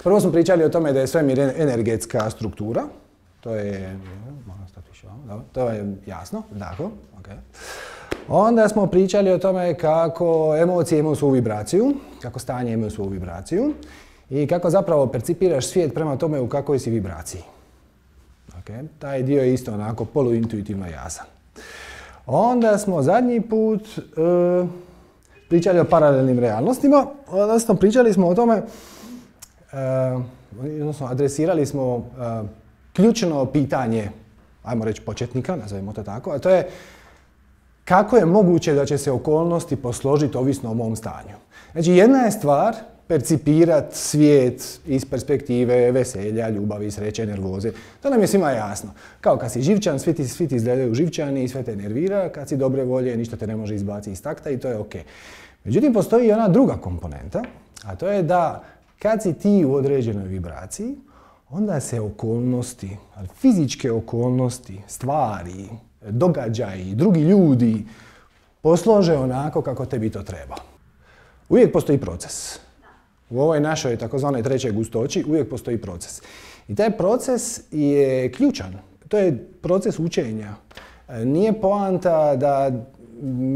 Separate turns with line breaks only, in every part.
Prvo smo pričali o tome da je svemir energetska struktura. To je jasno, tako. Okay. Onda smo pričali o tome kako emocije imaju svoju vibraciju, kako stanje imaju svoju vibraciju i kako zapravo percipiraš svijet prema tome u kakvoj si vibraciji. Okay. Taj dio je isto onako poluintuitivno jasan. Onda smo zadnji put pričali o paralelnim realnostima, odnosno pričali smo o tome, odnosno adresirali smo ključno pitanje, ajmo reći početnika, nazovimo to tako, a to je kako je moguće da će se okolnosti posložiti ovisno o mom stanju. Znači, jedna je stvar percipirati svijet iz perspektive veselja, ljubavi, sreće, nervoze. To nam je svima jasno. Kao kad si živčan, svi ti izgledaju živčani i sve te nervira, kad si dobre volje, ništa te ne može izbaciti iz takta i to je ok. Međutim, postoji i ona druga komponenta, a to je da kad si ti u određenoj vibraciji, onda se okolnosti, fizičke okolnosti, stvari, događaji, drugi ljudi poslože onako kako tebi to treba. Uvijek postoji proces. U ovoj našoj takozvanoj trećoj gustoći uvijek postoji proces. I taj proces je ključan. To je proces učenja. Nije poanta da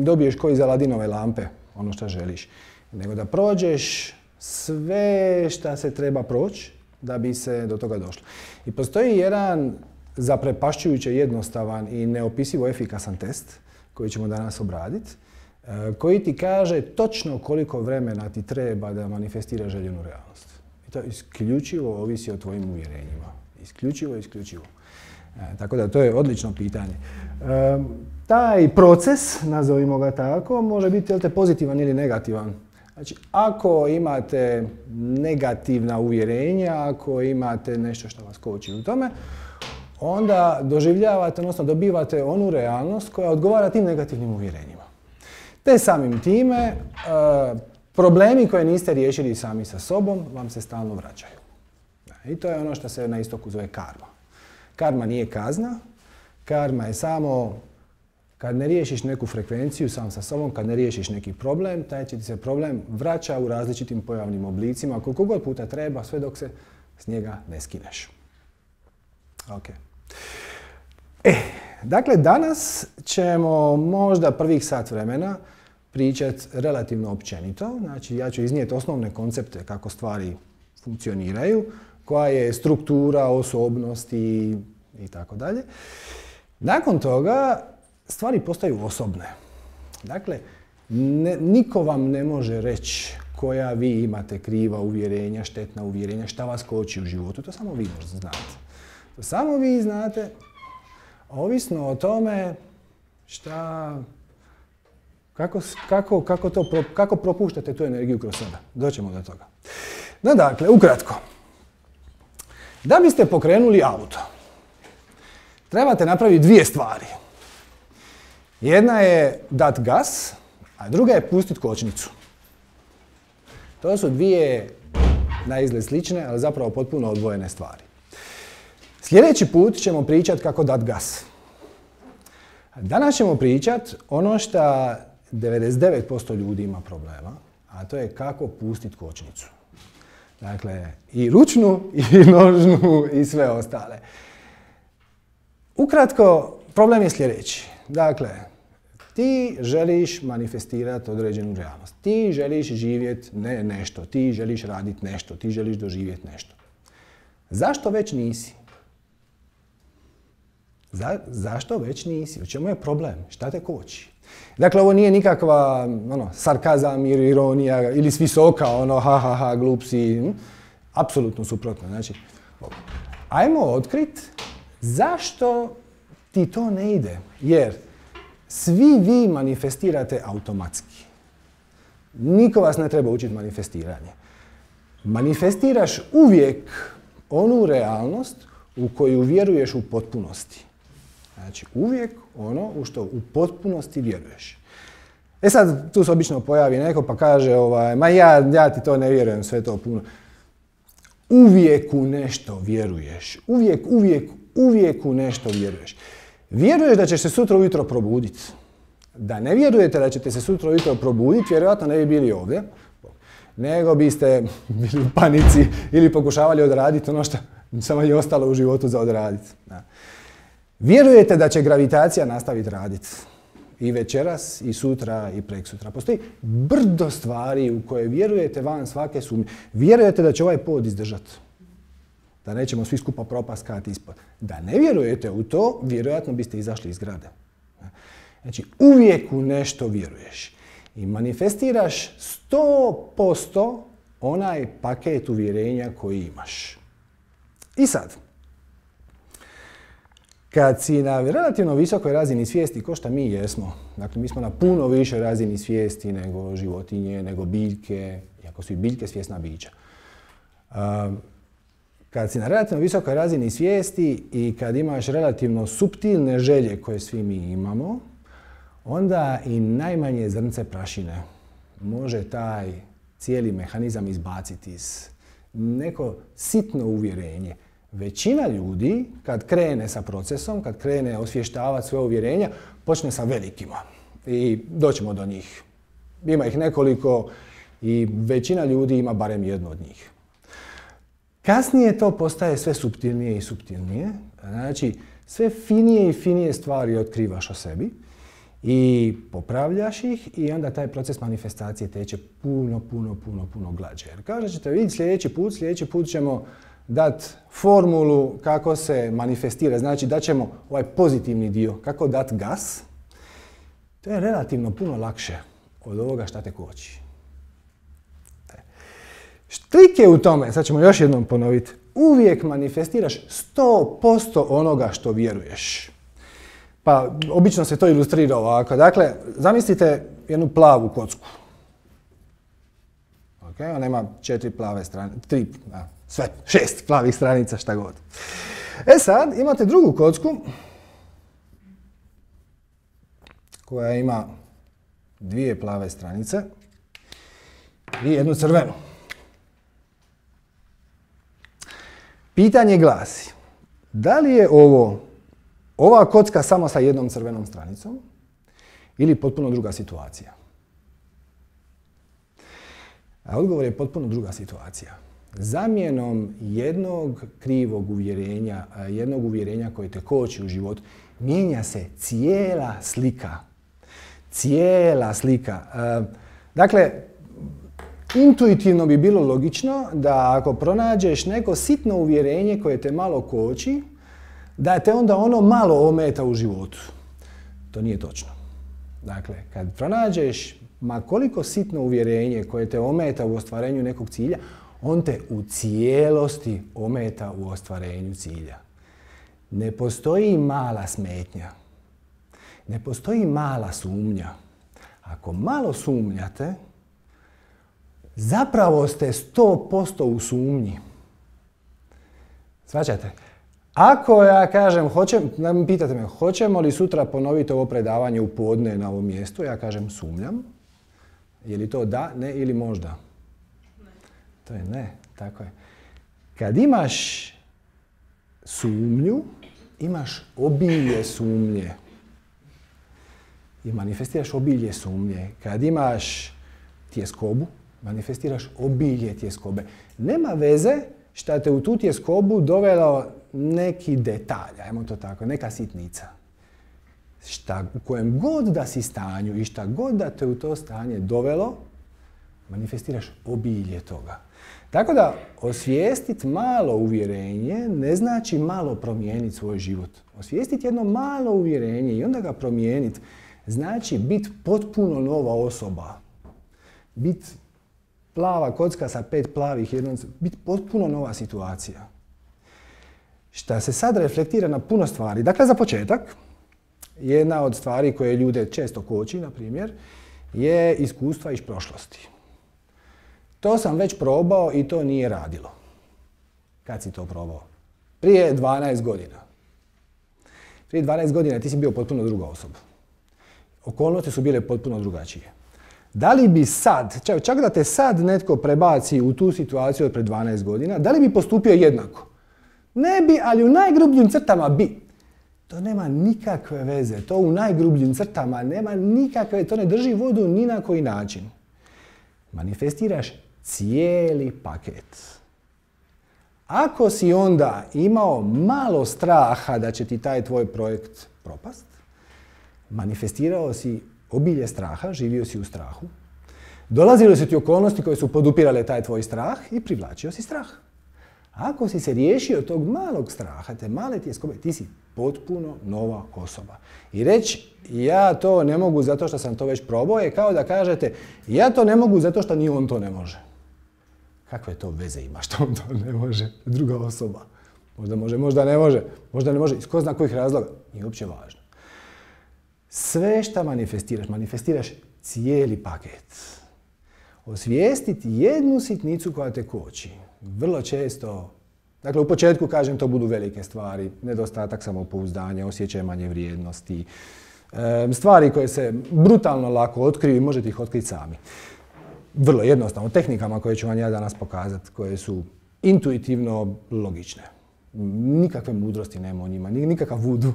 dobiješ ko iz Aladinove lampe, ono što želiš, nego da prođeš sve što se treba proći da bi se do toga došlo. I postoji jedan zaprepašćujuće jednostavan i neopisivo efikasan test koji ćemo danas obraditi, koji ti kaže točno koliko vremena ti treba da manifestiraš željenu realnost. I to isključivo ovisi o tvojim uvjerenjima. Isključivo. Tako da to je odlično pitanje. Taj proces, nazovimo ga tako, može biti pozitivan ili negativan. Znači, ako imate negativna uvjerenja, ako imate nešto što vas koči u tome, onda doživljavate, odnosno dobivate onu realnost koja odgovara tim negativnim uvjerenjima. Te samim time, problemi koje niste riješili sami sa sobom vam se stalno vraćaju. I to je ono što se na istoku zove karma. Karma nije kazna, karma je samo kad ne riješiš neku frekvenciju sam sa sobom, kad ne riješiš neki problem, taj će ti se problem vraća u različitim pojavnim oblicima, koliko god puta treba, sve dok se s njega ne skineš. Okay. Dakle, danas ćemo možda prvih sat vremena pričati relativno općenito. Znači, ja ću iznijeti osnovne koncepte kako stvari funkcioniraju, koja je struktura osobnosti i tako dalje. Nakon toga stvari postaju osobne. Dakle, niko vam ne može reći koja vi imate kriva uvjerenja, štetna uvjerenja, šta vas koči u životu. To samo vi možda znate. To samo vi znate, ovisno o tome kako propuštate tu energiju kroz sebe. Doćemo do toga. No, dakle, ukratko. Da biste pokrenuli auto, trebate napraviti dvije stvari. Jedna je dat gas, a druga je pustiti kočnicu. To su dvije na izgled slične, ali zapravo potpuno odvojene stvari. Sljedeći put ćemo pričati kako dat gas. Danas ćemo pričati ono što 99% ljudi ima problema, a to je kako pustiti kočnicu. Dakle, i ručnu, i nožnu, i sve ostale. Ukratko, problem je sljedeći. Dakle, ti želiš manifestirati određenu realnost. Ti želiš živjeti nešto, ti želiš raditi nešto, ti želiš doživjeti nešto. Zašto već nisi? Zašto već nisi? U čemu je problem? Šta te koči? Dakle, ovo nije nikakva sarkazam ili ironija ili s visoka, ha, glup si. Apsolutno suprotno. Znači, ajmo otkriti zašto ti to ne ide. Jer svi vi manifestirate automatski. Niko vas ne treba učiti manifestiranje. Manifestiraš uvijek onu realnost u koju vjeruješ u potpunosti. Znači, uvijek ono u što u potpunosti vjeruješ. Sad, tu se obično pojavi neko pa kaže, ma ja ti to ne vjerujem, sve to puno. Uvijek u nešto vjeruješ. Uvijek u nešto vjeruješ. Vjeruješ da ćeš se sutra ujutro probuditi. Da ne vjerujete da ćete se sutra ujutro probuditi, vjerojatno ne bi bili ovdje. nego biste bili u panici ili pokušavali odraditi ono što samo je ostalo u životu za odraditi. Vjerujete da će gravitacija nastaviti raditi i večeras, i sutra, i preksutra. Postoji brdo stvari u koje vjerujete van svake sumnje. Vjerujete da će ovaj pod izdržati. Da nećemo svi skupa propaskati ispod. Da ne vjerujete u to, vjerojatno biste izašli iz zgrade. Znači, uvijek u nešto vjeruješ. I manifestiraš 100% onaj paket uvjerenja koji imaš. I sad, kad si na relativno visokoj razini svijesti, ko što mi jesmo, dakle mi smo na puno više razini svijesti nego životinje, nego biljke, iako su i biljke svjesna bića. Kad si na relativno visokoj razini svijesti i kad imaš relativno suptilne želje koje svi mi imamo, onda i najmanje zrnce prašine može taj cijeli mehanizam izbaciti iz neko sitno uvjerenje. Većina ljudi, kad krene sa procesom, kad krene osvještavati svoje uvjerenja, počne sa velikima. I doćemo do njih. Ima ih nekoliko i većina ljudi ima barem jedno od njih. Kasnije to postaje sve suptilnije i suptilnije. Znači, sve finije i finije stvari otkrivaš o sebi i popravljaš ih i onda taj proces manifestacije teče puno glađe. Jer kao što ćete vidjeti sljedeći put ćemo dati formulu kako se manifestira. Znači, daćemo ovaj pozitivni dio, kako dati gas. To je relativno puno lakše od ovoga šta te koči. Štrik je u tome, sad ćemo još jednom ponoviti, uvijek manifestiraš 100% onoga što vjeruješ. Pa, obično se to ilustrira ovako. Dakle, zamislite jednu plavu kocku. Okay, ona ima 4 plave stranice, 6 plavih stranica, šta god. E sad, imate drugu kocku koja ima 2 plave stranice i jednu crvenu. Pitanje glasi, da li je ova kocka samo sa jednom crvenom stranicom ili potpuno druga situacija? A odgovor je potpuno druga situacija. Zamjenom jednog krivog uvjerenja, jednog uvjerenja koje te koči u životu, mijenja se cijela slika. Cijela slika. Dakle, intuitivno bi bilo logično da ako pronađeš neko sitno uvjerenje koje te malo koči, da te onda ono malo ometa u životu. To nije točno. Dakle, kad pronađeš ma koliko sitno uvjerenje koje te ometa u ostvarenju nekog cilja, on te u cijelosti ometa u ostvarenju cilja. Ne postoji mala smetnja. Ne postoji mala sumnja. Ako malo sumnjate, zapravo ste 100% u sumnji. Shvaćate? Ako ja kažem, pitate me, hoćemo li sutra ponoviti ovo predavanje u podne na ovom mjestu, ja kažem sumnjam. Je li to da, ne ili možda? Ne. To je ne, tako je. Kad imaš sumnju, imaš obilje sumnje. I manifestiraš obilje sumnje. Kad imaš tjeskobu, manifestiraš obilje tjeskobe. Nema veze šta te u tu tjeskobu dovelo neki detalj, ajmo to tako, neka sitnica. U kojem god da si stanju i šta god da te u to stanje dovelo, manifestiraš obilje toga. Tako da osvijestiti malo uvjerenje ne znači malo promijeniti svoj život. Osvijestiti jedno malo uvjerenje i onda ga promijeniti znači biti potpuno nova osoba. Biti plava kocka sa 5 plavih, biti potpuno nova situacija. Šta se sad reflektira na puno stvari. Dakle, za početak, jedna od stvari koje ljude često koči, na primjer, je iskustva iz prošlosti. To sam već probao i to nije radilo. Kad si to probao? Prije 12 godina. Prije 12 godina ti si bio potpuno druga osoba. Okolnosti su bile potpuno drugačije. Da li bi sad, čak da te sad netko prebaci u tu situaciju od pred 12 godina, da li bi postupio jednako? Ne bi, ali u najgrubljim crtama bi. To nema nikakve veze. To u najgrubljim crtama nema nikakve, to ne drži vodu ni na koji način. Manifestiraš cijeli paket. Ako si onda imao malo straha da će ti taj tvoj projekt propast, manifestirao si obilje straha, živio si u strahu, dolazile su ti okolnosti koje su podupirale taj tvoj strah i privlačio si strah. Ako si se riješio tog malog straha, te male tjeskobe, ti si potpuno nova osoba. I reći ja to ne mogu zato što sam to već probao je kao da kažete ja to ne mogu zato što ni on to ne može. Kakve to veze ima što on to ne može, druga osoba? Možda može, možda ne može. Možda ne može, iz ko zna kojih razloga. Nije uopće važno. Sve što manifestiraš cijeli paket. Osvijestiti jednu sitnicu koja te koči. Vrlo često, dakle u početku kažem to budu velike stvari, nedostatak samopouzdanja, osjećaj manje vrijednosti, stvari koje se brutalno lako otkriju i možete ih otkriti sami. Vrlo jednostavno, tehnikama koje ću vam ja danas pokazati, koje su intuitivno logične. Nikakve mudrosti nema u njima, nikakav vudu.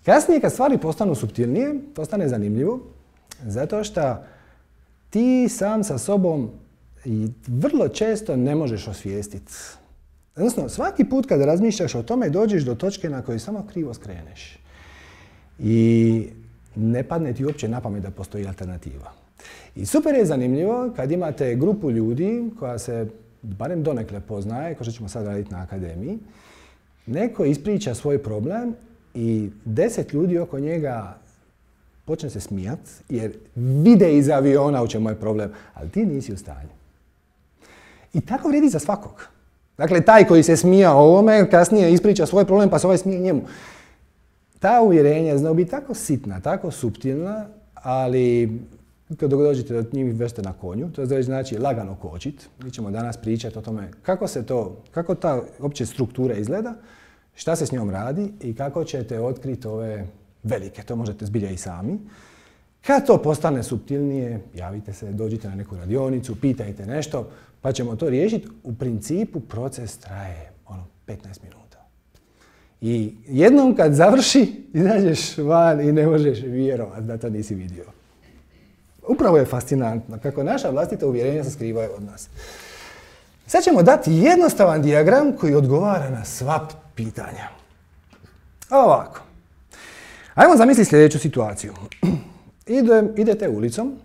Kasnije kad stvari postanu suptilnije, postane zanimljivo, zato što ti sam sa sobom i vrlo često ne možeš osvijestiti. Odnosno, svaki put kad razmišljaš o tome, dođeš do točke na kojoj samo krivo skreneš. I ne padne ti uopće na pamet da postoji alternativa. I super je zanimljivo kad imate grupu ljudi koja se barem donekle poznaje, kao što ćemo sad raditi na akademiji, neko ispriča svoj problem i 10 ljudi oko njega počne se smijat jer vide iz aviona u čemu je problem, ali ti nisi u stanju. I tako vrijedi za svakog. Dakle, taj koji se smija ovome, kasnije ispriča svoj problem pa se ovaj smije njemu. Ta uvjerenja znaju biti tako sitna, tako suptilna, ali kad dođete do njih već ste na konju, to znači lagano kočit. Mi ćemo danas pričati o tome kako ta opće struktura izgleda, šta se s njom radi i kako ćete otkriti ove velike. To možete zbilja i sami. Kad to postane suptilnije, javite se, dođite na neku radionicu, pitajte nešto, pa ćemo to riješiti. U principu proces traje 15 minuta. I jednom kad završi, izađeš van i ne možeš vjerovati da to nisi vidio. Upravo je fascinantno kako naša vlastita uvjerenja se skrivaju od nas. Sad ćemo dati jednostavan dijagram koji odgovara na sva pitanja. Ovako. Ajmo zamisliti sljedeću situaciju. Idete ulicom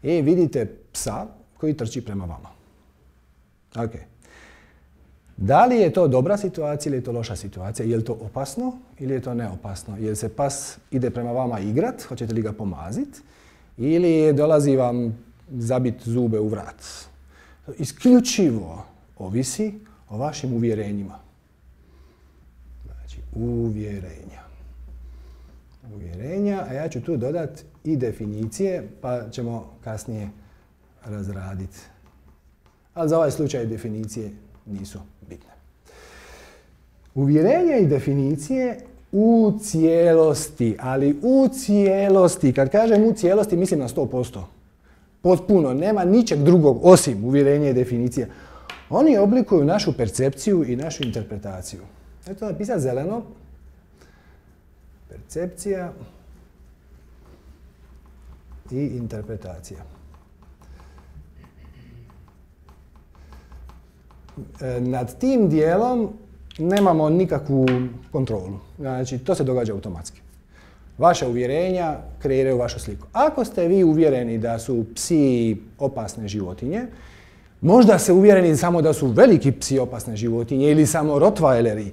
i vidite psa koji trči prema vama. Ok. Da li je to dobra situacija ili je to loša situacija? Je li to opasno ili je to neopasno? Je li se pas ide prema vama igrat? Hoćete li ga pomaziti? Ili dolazi vam zabiti zube u vrat? Isključivo ovisi o vašim uvjerenjima. Znači, uvjerenja, a ja ću tu dodati i definicije, pa ćemo kasnije razraditi. Ali za ovaj slučaj definicije nisu bitne. Uvjerenja i definicije u cijelosti, ali u cijelosti. Kad kažem u cijelosti, mislim na 100%. Potpuno, nema ničeg drugog osim uvjerenja i definicija. Oni oblikuju našu percepciju i našu interpretaciju. Eto napisati zeleno. Percepcija i interpretacija. Nad tim dijelom nemamo nikakvu kontrolu. Znači, to se događa automatski. Vaša uvjerenja kreiraju vašu sliku. Ako ste vi uvjereni da su psi opasne životinje, možda ste uvjereni samo da su veliki psi opasne životinje ili samo rottweileri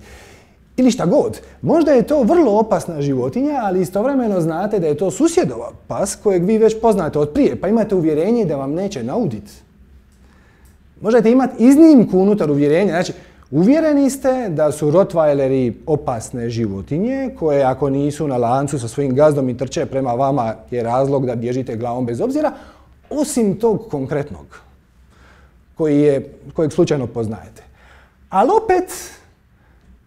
ili šta god. Možda je to vrlo opasna životinja, ali istovremeno znate da je to susjedova pas kojeg vi već poznate od prije, pa imate uvjerenje da vam neće nauditi. Možete imati iznimku unutar uvjerenja. Znači, uvjereni ste da su rottweileri opasne životinje koje ako nisu na lancu sa svojim gazdom i trče prema vama je razlog da bježite glavom bez obzira, osim tog konkretnog kojeg slučajno poznajete. Ali opet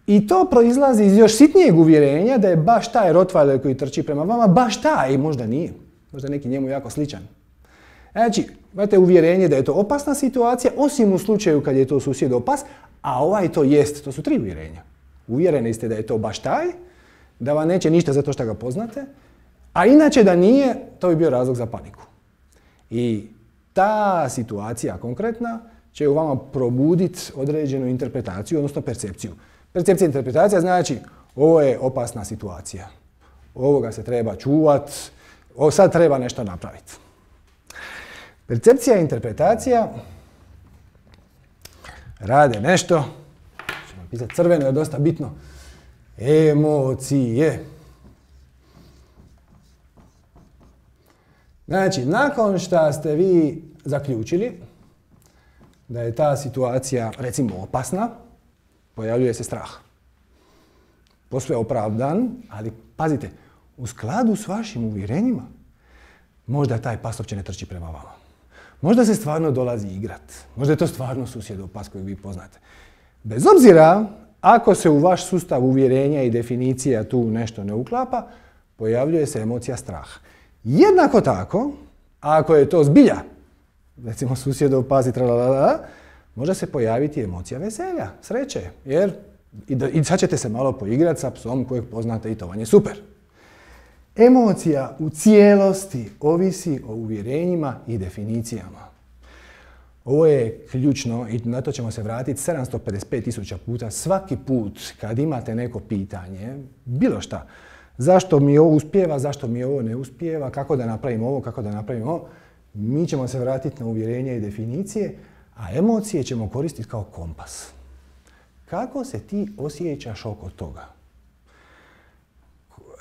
i to proizlazi iz još sitnijeg uvjerenja da je baš taj rottweiler koji trči prema vama, baš taj, možda nije. Možda neki njemu jako sličan. Znači, imate uvjerenje da je to opasna situacija, osim u slučaju kad je to susjedov pas, a ovaj to jest. To su 3 uvjerenja. Uvjereni ste da je to baš taj, da vam neće ništa zato što ga poznate, a inače da nije, to bi bio razlog za paniku. I ta situacija konkretna će u vama probuditi određenu interpretaciju, odnosno percepciju. Percepcija i interpretacija znači ovo je opasna situacija. Ovoga se treba čuvat, sad treba nešto napraviti. Percepcija i interpretacija rade nešto, ćemo pisati crveno, je dosta bitno, emocije. Znači, nakon što ste vi zaključili da je ta situacija, recimo, opasna, pojavljuje se strah. Posve opravdan, ali pazite, u skladu s vašim uvjerenjima, možda taj pas uopće ne trči prema vama. Možda se stvarno dolazi igrat. Možda je to stvarno susjedov pas kojeg vi poznate. Bez obzira, ako se u vaš sustav uvjerenja i definicija tu nešto ne uklapa, pojavljuje se emocija straha. Jednako tako, ako je to zbilja, recimo susjedov pas i tralalala, može se pojaviti emocija veselja, sreće, jer i sad ćete se malo poigrati sa psom kojeg poznate i to vam je super. Emocija u cijelosti ovisi o uvjerenjima i definicijama. Ovo je ključno i na to ćemo se vratiti 755.000 puta svaki put kad imate neko pitanje, bilo šta. Zašto mi ovo uspijeva, zašto mi ovo ne uspijeva, kako da napravim ovo, kako da napravim ovo. Mi ćemo se vratiti na uvjerenja i definicije, a emocije ćemo koristiti kao kompas. Kako se ti osjećaš oko toga?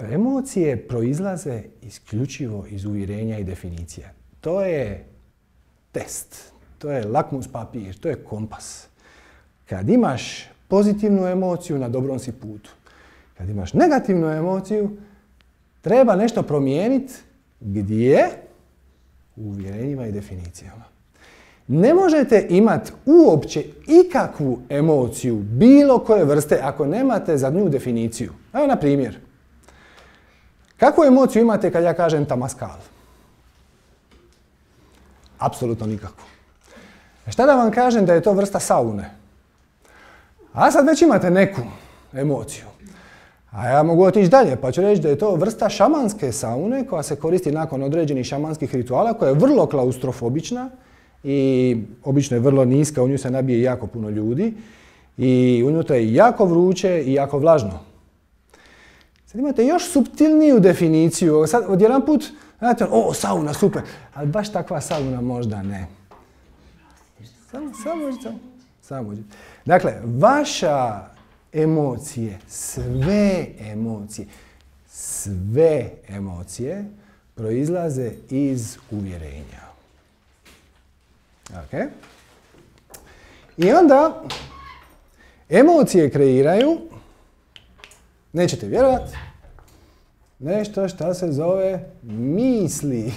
Emocije proizlaze isključivo iz uvjerenja i definicija. To je test, to je lakmus papir, to je kompas. Kad imaš pozitivnu emociju, na dobrom si putu. Kad imaš negativnu emociju, treba nešto promijeniti. Gdje? U uvjerenjima i definicijama. Ne možete imati uopće ikakvu emociju bilo koje vrste ako nemate za nju definiciju. Evo na primjer. Kakvu emociju imate kad ja kažem tamaskal? Apsolutno nikakvu. Šta da vam kažem da je to vrsta saune? A sad već imate neku emociju. A ja mogu otići dalje pa ću reći da je to vrsta šamanske saune koja se koristi nakon određenih šamanskih rituala, koja je vrlo klaustrofobična i obično je vrlo niska, u nju se nabije jako puno ljudi i unutra je jako vruće i jako vlažno. Sad imate još suptilniju definiciju, sad odjedan put, znate, o, sauna, super, ali baš takva sauna možda ne. Samo. Dakle, vaša emocije, sve emocije proizlaze iz uvjerenja. Okay. I onda emocije kreiraju, nećete vjerovati, nešto što se zove misli.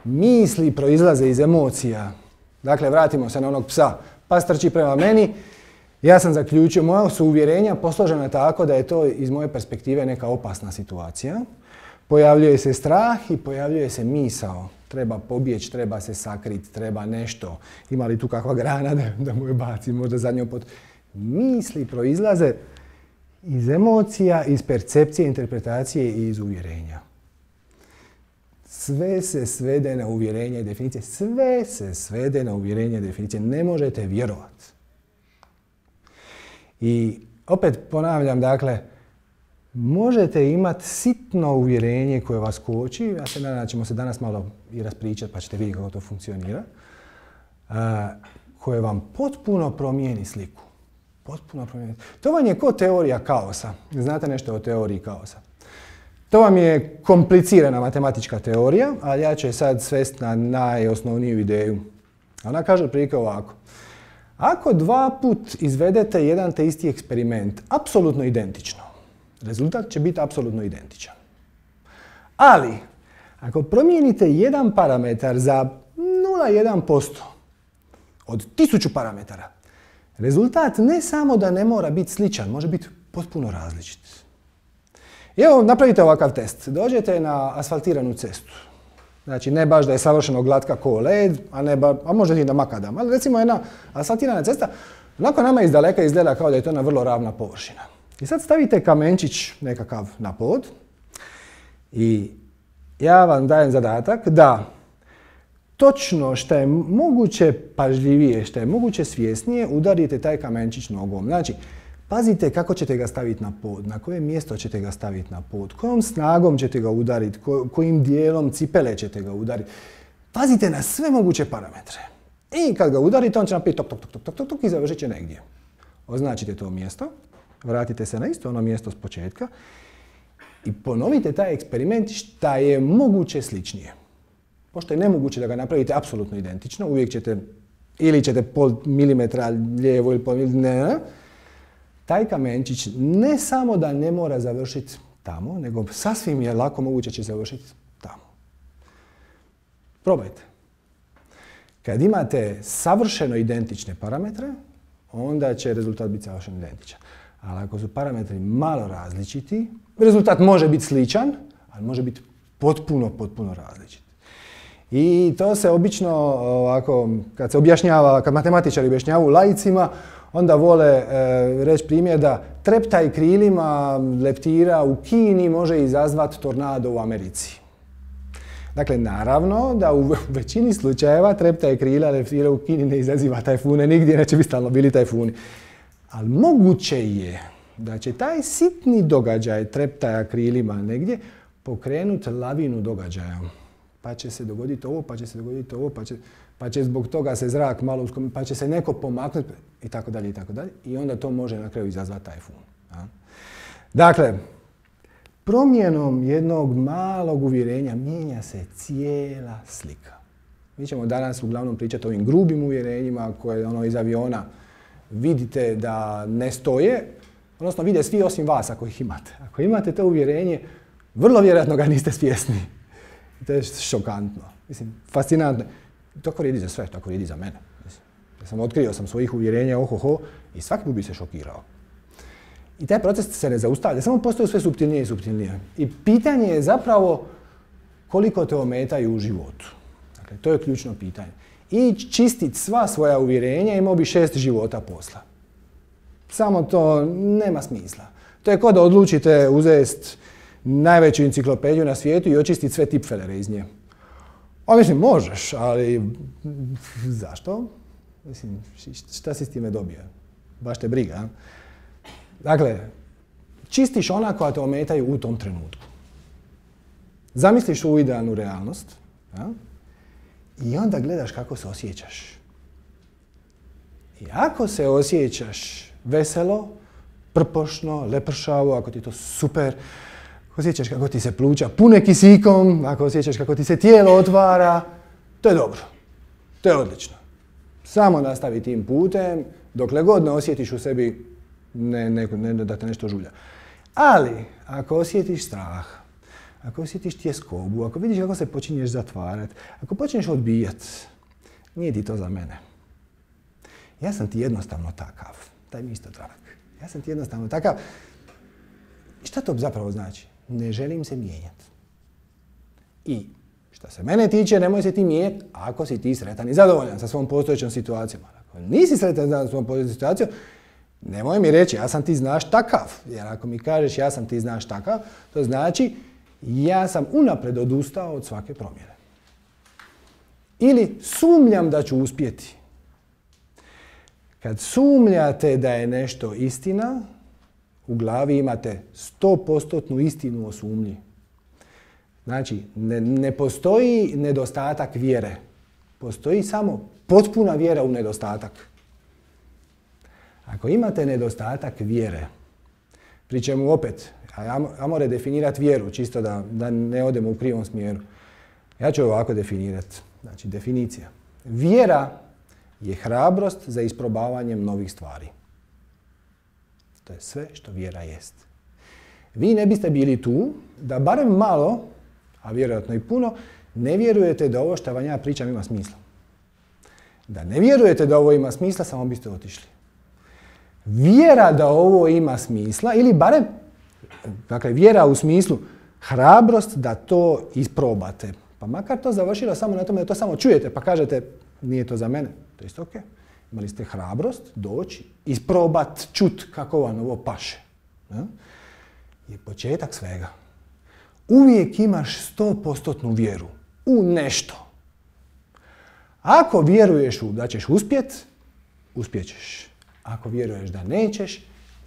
Misli proizlaze iz emocija. Dakle, vratimo se na onog psa. Pas trči prema meni, ja sam zaključio, moja su uvjerenja posložena tako da je to iz moje perspektive neka opasna situacija. Pojavljuje se strah i pojavljuje se misao. Treba pobjeći, treba se sakriti, treba nešto. Ima li tu kakva grana da mu je bacim, možda zadnju pot. Misli proizlaze iz emocija, iz percepcije, interpretacije i iz uvjerenja. Sve se svede na uvjerenje i definicije. Sve se svede na uvjerenje i definicije. Ne možete vjerovati. I opet ponavljam, dakle, možete imati sitno uvjerenje koje vas koči. Ja se nadam da ćemo se danas malo i raspričati pa ćete vidjeti kako to funkcionira. Koje vam potpuno promijeni sliku. Potpuno promijeni. To vam je kao teorija kaosa. Znate nešto o teoriji kaosa? To vam je komplicirana matematička teorija, ali ja ću je sad svesti na najosnovniju ideju. Ona kaže otprilike ovako. Ako dva put izvedete jedan te isti eksperiment, apsolutno identično, rezultat će biti apsolutno identičan. Ali, ako promijenite jedan parametar za 0,1% od 1000 parametara, rezultat ne samo da ne mora biti sličan, može biti potpuno različit. I evo, napravite ovakav test. Dođete na asfaltiranu cestu. Znači, ne baš da je savršeno glatka ko led, a možda i da makadam. Ali recimo jedna asfaltirana cesta, onako nama iz daleka izgleda kao da je to jedna vrlo ravna površina. I sad stavite kamenčić nekakav na pod i ja vam dajem zadatak da točno, šta je moguće pažljivije, šta je moguće svjesnije, udarite taj kamenčić nogom. Znači, pazite kako ćete ga staviti na pod, na koje mjesto ćete ga staviti na pod, kojom snagom ćete ga udariti, kojim dijelom cipele ćete ga udariti. Pazite na sve moguće parametre. I kad ga udarite, on će napraviti tok, tok, tok, tok, tok, tok i završit će negdje. Označite to mjesto, vratite se na isto ono mjesto s početka i ponovite taj eksperiment šta je moguće sličnije. Pošto je nemoguće da ga napravite apsolutno identično, uvijek ćete, ili ćete pol milimetra lijevo ili pol milimetra, taj kamenčić ne samo da ne mora završiti tamo, nego sasvim je lako moguće će završiti tamo. Probajte. Kad imate savršeno identične parametre, onda će rezultat biti savršeno identičan. Ali ako su parametri malo različiti, rezultat može biti sličan, ali može biti potpuno različit. I to se obično ovako, kad se objašnjava, kad matematičari objašnjavaju laicima, onda vole reći primjer da treptaj krilima leptira u Kini može izazvati tornado u Americi. Dakle, naravno da u većini slučajeva treptaj krila leptira u Kini ne izaziva tajfune, nigdje neće biti stalno bili tajfuni. Ali moguće je da će taj sitni događaj treptaja krilima negdje pokrenuti lavinu događaja. Pa će se dogoditi ovo, pa će se dogoditi ovo, pa će zbog toga se zrak malo uskomiti, pa će se neko pomaknuti i tako dalje i tako dalje. I onda to može na kraju izazvati tajfun. Dakle, promjenom jednog malog uvjerenja mijenja se cijela slika. Mi ćemo danas uglavnom pričati o ovim grubim uvjerenjima koje iz aviona vidite da ne stoje, odnosno vide svi osim vas ako ih imate. Ako imate to uvjerenje, vrlo vjerojatno ga niste svjesni. To je šokantno. Mislim, fascinantno. Tako vrijedi za sve, tako vrijedi za mene. Ja otkrio sam svojih uvjerenja, ohoho, i svaki put bi se šokirao. I taj proces se ne zaustavlja, samo postoje sve suptilnije i suptilnije. I pitanje je zapravo koliko te ometaju u životu. Dakle, to je ključno pitanje. I čistiti sva svoja uvjerenja, imao bi 6 života posla. Samo to nema smisla. To je kao da odlučite uzeti najveću enciklopediju na svijetu i očistiti sve tipfelere iz nje. Mislim, možeš, ali zašto? Mislim, šta si s time dobio? Baš te briga. A? Dakle, čistiš ona koja te ometaju u tom trenutku. Zamisliš svoju idealnu realnost, a? I onda gledaš kako se osjećaš. I ako se osjećaš veselo, prpošno, lepršavo, ako ti je to super, ako osjećaš kako ti se pluća pune kisikom, ako osjećaš kako ti se tijelo otvara, to je dobro. To je odlično. Samo nastavi tim putem, dokle god ne osjetiš u sebi da te nešto žulja. Ali, ako osjetiš strah, ako osjetiš tjeskobu, ako vidiš kako se počinješ zatvarati, ako počneš odbijati, nije ti to za mene. Ja sam ti jednostavno takav. Daj mi isto trak. Ja sam ti jednostavno takav. I šta to zapravo znači? Ne želim se mijenjati. I što se mene tiče, nemoj se ti mijenjati ako si ti sretan i zadovoljan sa svom postojećom situacijom. Ako nisi sretan sa svom postojećom situacijom, nemoj mi reći ja sam ti znaš takav. Jer ako mi kažeš ja sam ti znaš takav, to znači ja sam unaprijed odustao od svake promjene. Ili sumnjam da ću uspjeti. Kad sumnjate da je nešto istina, u glavi imate 100% istinu o sumnji. Znači, ne postoji nedostatak vjere. Postoji samo potpuna vjera u nedostatak. Ako imate nedostatak vjere, pri čemu opet, ajmo redefinirati vjeru, čisto da ne odemo u krivom smjeru. Ja ću ovako definirati. Znači, definicija. Vjera je hrabrost za isprobavanjem novih stvari. To je sve što vjera jest. Vi ne biste bili tu da barem malo, a vjerojatno i puno, ne vjerujete da ovo što vam ja pričam ima smisla. Da ne vjerujete da ovo ima smisla, samo biste otišli. Vjera da ovo ima smisla, ili barem, dakle, vjera u smislu hrabrost da to isprobate. Pa makar to završilo samo na tome da to samo čujete, pa kažete nije to za mene, to je isto ok. Imali ste hrabrost doći, isprobat, čut kako vam ovo paše. Je početak svega. Uvijek imaš 100% vjeru u nešto. Ako vjeruješ da ćeš uspjet, uspjećeš. Ako vjeruješ da nećeš,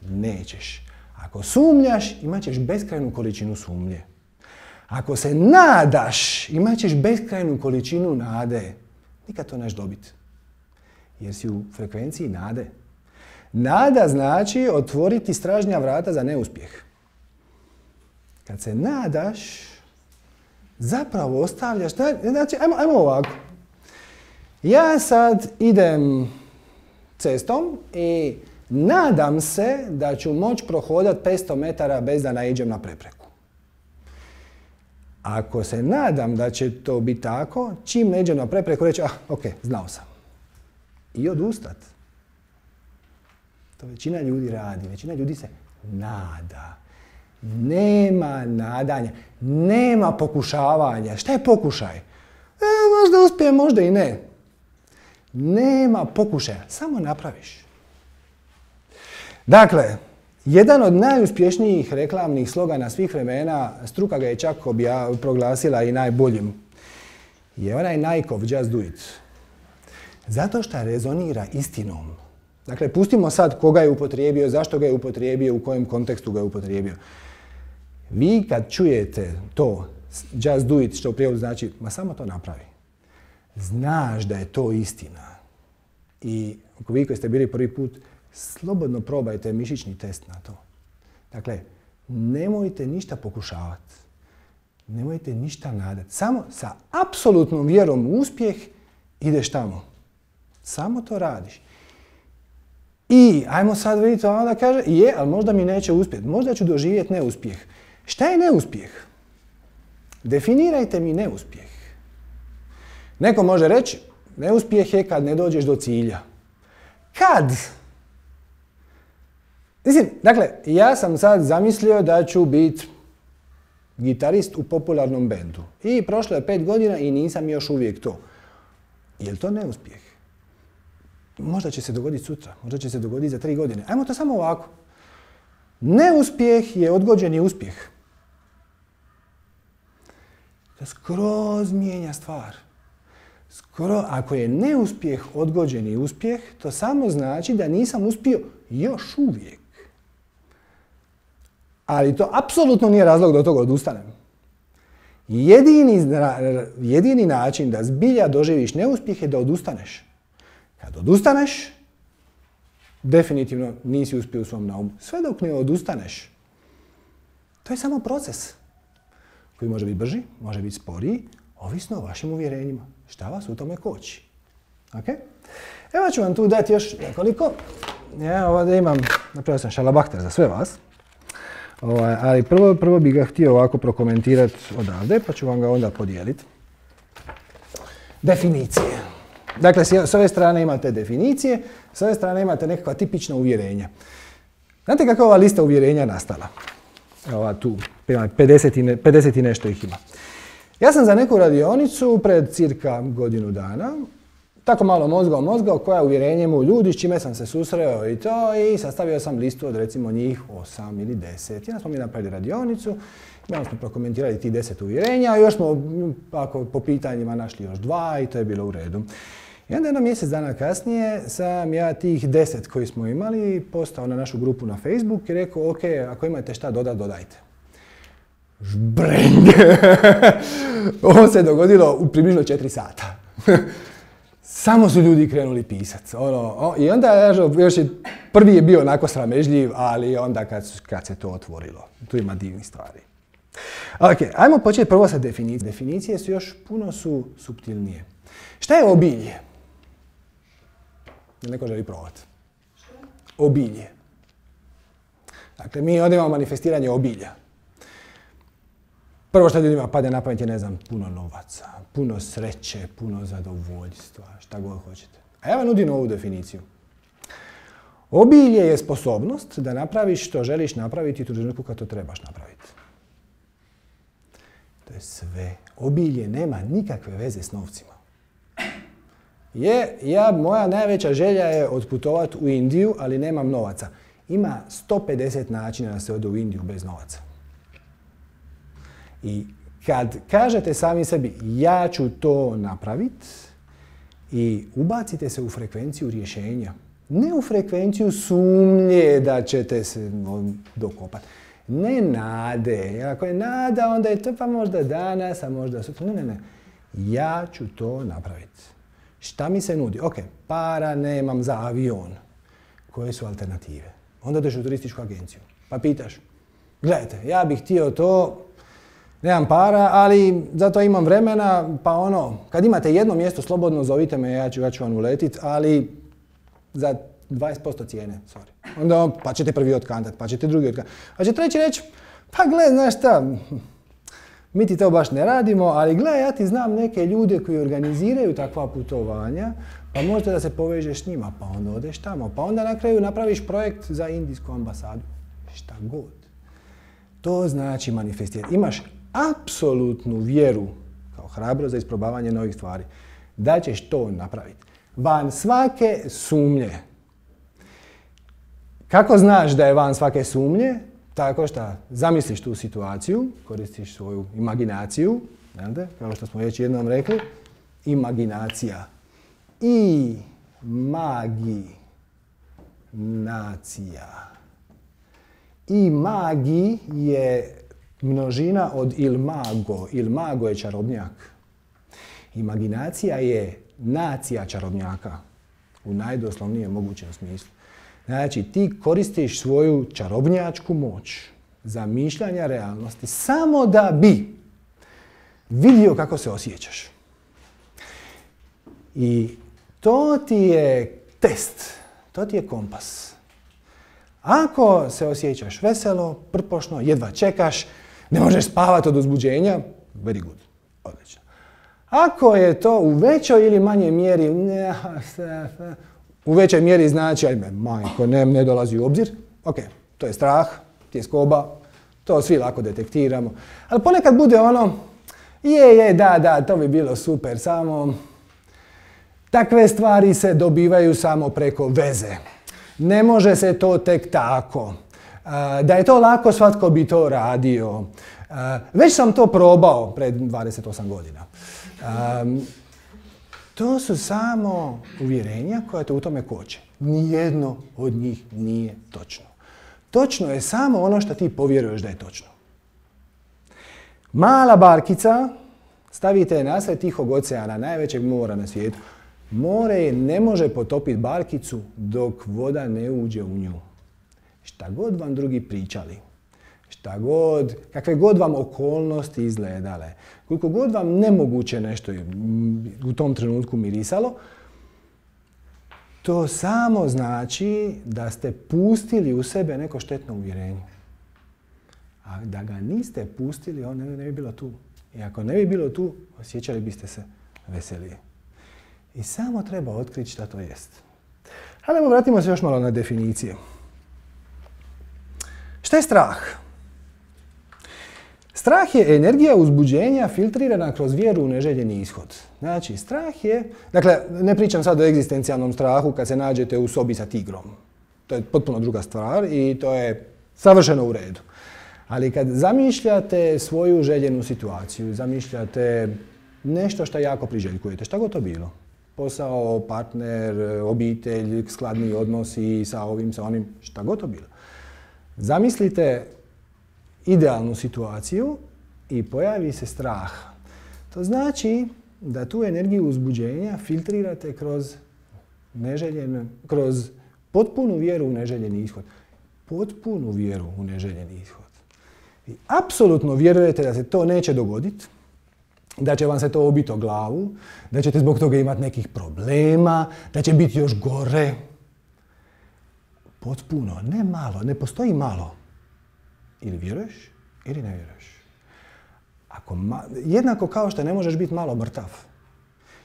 nećeš. Ako sumnjaš, imat ćeš beskrajnu količinu sumnje. Ako se nadaš, imat ćeš beskrajnu količinu nade. Nikad to neš dobiti. Jer si u frekvenciji nade. Nada znači otvoriti stražnja vrata za neuspjeh. Kad se nadaš, zapravo ostavljaš... Znači, ajmo ovako. Ja sad idem cestom i nadam se da ću moći prohodati 500 metara bez da naiđem na prepreku. Ako se nadam da će to biti tako, čim naiđem na prepreku reći, ok, znao sam. I odustat. To većina ljudi radi. Većina ljudi se nada. Nema nadanja. Nema pokušavanja. Šta je pokušaj? Možda uspije, možda i ne. Nema pokušaja. Samo napraviš. Dakle, jedan od najuspješnijih reklamnih slogana svih vremena, struka ga je čak proglasila i najboljim, je onaj Nikeov Just Do It. Zato što rezonira istinom. Dakle, pustimo sad koga je upotrijebio, zašto ga je upotrijebio, u kojem kontekstu ga je upotrijebio. Vi kad čujete to, Just Do It, što u prijevodu znači, ma samo to napravi. Znaš da je to istina. I ako vi koji ste bili prvi put, slobodno probajte mišićni test na to. Dakle, nemojte ništa pokušavati. Nemojte ništa nadati. Samo sa apsolutnom vjerom u uspjeh ideš tamo. Samo to radiš. I, ajmo sad vidjeti, onda kaže, ali možda mi neće uspjeti. Možda ću doživjeti neuspjeh. Šta je neuspjeh? Definirajte mi neuspjeh. Neko može reći, neuspjeh je kad ne dođeš do cilja. Kad? Mislim, dakle, ja sam sad zamislio da ću biti gitarist u popularnom bendu. I prošlo je 5 godina i nisam još uvijek to. Je li to neuspjeh? Možda će se dogoditi sutra, možda će se dogoditi za 3 godine. Ajmo to samo ovako. Neuspjeh je odgođeni uspjeh. To skroz mijenja stvar. Ako je neuspjeh odgođeni uspjeh, to samo znači da nisam uspio još uvijek. Ali to apsolutno nije razlog da od toga odustanem. Jedini način da zbilja doživiš neuspjeh je da odustaneš. Kad odustaneš, definitivno nisi uspio u svom naumu. Sve dok ne odustaneš, to je samo proces koji može biti brži, može biti sporiji, ovisno o vašim uvjerenjima. Šta vas u tome koči? Okay? Evo ću vam tu dati još nekoliko. Ja ovdje imam, napravio sam šalabahter za sve vas. Ali prvo bih ga htio ovako prokomentirati odavde, pa ću vam ga onda podijeliti. Definicije. Dakle, s ove strane imate definicije, s ove strane imate nekakva tipična uvjerenja. Znate kako je ova lista uvjerenja nastala? Ova tu, 50 i nešto ih ima. Ja sam za neku radionicu pred cirka godinu dana tako malo mozgao koja uvjerenje mu ljudi s čime sam se susreo i to, i sastavio sam listu od recimo njih 8 ili 10. I onda smo mi napravili radionicu, onda smo prokomentirali ti 10 uvjerenja, a još smo po pitanjima našli još 2 i to je bilo u redu. I onda jedno mjesec dana kasnije sam ja tih 10 koji smo imali postao na našu grupu na Facebook i rekao, ok, ako imate šta dodajte. Žbreng! Ovo se dogodilo u približno 4 sata. Samo su ljudi krenuli pisati. I onda još prvi je bio onako sramežljiv, ali onda kad se to otvorilo. Tu ima divnih stvari. Ok, ajmo početi prvo sa definicijom. Definicije su još puno suptilnije. Šta je obilje? Neko želi probati. Obilje. Dakle, mi ovdje imamo manifestiranje obilja. Prvo što ljudima pade na pamet je, ne znam, puno novaca, puno sreće, puno zadovoljstva, šta god hoćete. A ja vam nudim ovu definiciju. Obilje je sposobnost da napraviš što želiš napraviti u trenutku kad to trebaš napraviti. To je sve. Obilje nema nikakve veze s novcima. Moja najveća želja je otputovati u Indiju, ali nemam novaca. Ima 150 načina da se ode u Indiju bez novaca. I kad kažete sami sebi, ja ću to napraviti, I ubacite se u frekvenciju rješenja. Ne u frekvenciju sumnje da ćete se dokopati. Ne nade. Ako je nada, onda je to pa možda danas, a možda sutra. Ne. Ja ću to napraviti. Šta mi se nudi? Ok, para nemam za avion. Koje su alternative? Onda dođeš u turističku agenciju. Pa pitaš, gledajte, ja bih htio to, nemam para, ali zato imam vremena, pa kad imate jedno mjesto slobodno, zovite me, ja ću vam uletit, ali za 20% cijene, sorry. Onda pa ćete prvi otkantat, pa ćete drugi otkantat. Pa će treći reći, pa gle, znaš šta, mi ti to baš ne radimo, ali gle, ja ti znam neke ljude koji organiziraju takva putovanja, pa možda da se povežeš s njima, pa onda odeš tamo, pa onda na kraju napraviš projekt za indijsku ambasadu. Šta god. To znači manifestirati. Imaš apsolutnu vjeru, kao hrabrost za isprobavanje novih stvari, da ćeš to napraviti. Van svake sumnje. Kako znaš da je van svake sumnje? Tako što zamisliš tu situaciju, koristiš svoju imaginaciju, kao što smo već jednom rekli, imaginacija. I nacija. I magi je množina od il mago. Il mago je čarobnjak. Imaginacija je nacija čarobnjaka. U najdoslovnijem mogućem smislu. Znači, ti koristiš svoju čarobnjačku moć zamišljanja realnosti samo da bi vidio kako se osjećaš. I to ti je test, to ti je kompas. Ako se osjećaš veselo, prpošno, jedva čekaš, ne možeš spavati od uzbuđenja, very good, odlično. Ako je to u većoj ili manjoj mjeri, u većoj mjeri znači, ajme, majko, ne dolazi u obzir, ok, to je strah, tjeskoba, to svi lako detektiramo. Ali ponekad bude da, to bi bilo super, samo takve stvari se dobivaju samo preko veze. Ne može se to tek tako. Da je to lako, svatko bi to radio. Već sam to probao pred 28 godina. To su samo uvjerenja koja te u tome koče. Nijedno od njih nije točno. Točno je samo ono što ti povjeruješ da je točno. Mala barkica, stavite je nasred Tihog oceana, najvećeg mora na svijetu. More ne može potopiti barkicu dok voda ne uđe u nju. Šta god vam drugi pričali, kakve god vam okolnosti izgledale, koliko god vam nemoguće nešto u tom trenutku mirisalo, to samo znači da ste pustili u sebe neko štetno uvjerenje. A da ga niste pustili, on ne bi bilo tu. I ako ne bi bilo tu, osjećali biste se veselije. I samo treba otkriti šta to jest. Ali vratimo se još malo na definicije. Šta je strah? Strah je energija uzbuđenja filtrirana kroz vjeru u neželjeni ishod. Znači, strah je... Dakle, ne pričam sad o egzistencijalnom strahu kad se nađete u sobi sa tigrom. To je potpuno druga stvar i to je savršeno u redu. Ali kad zamišljate svoju željenu situaciju, zamišljate nešto što jako priželjkujete, šta god to bilo. Posao, partner, obitelj, skladni odnosi sa ovim, sa onim, šta god to bilo. Zamislite idealnu situaciju i pojavi se strah. To znači da tu energiju uzbuđenja filtrirate kroz potpunu vjeru u neželjeni ishod. Potpunu vjeru u neželjeni ishod. Vi apsolutno vjerujete da se to neće dogoditi, da će vam se to obiti o glavu, da ćete zbog toga imati nekih problema, da će biti još gore. Potpuno, ne malo, ne postoji malo. Ili vjeruješ, ili ne vjeruješ. Jednako kao što ne možeš biti malo mrtav.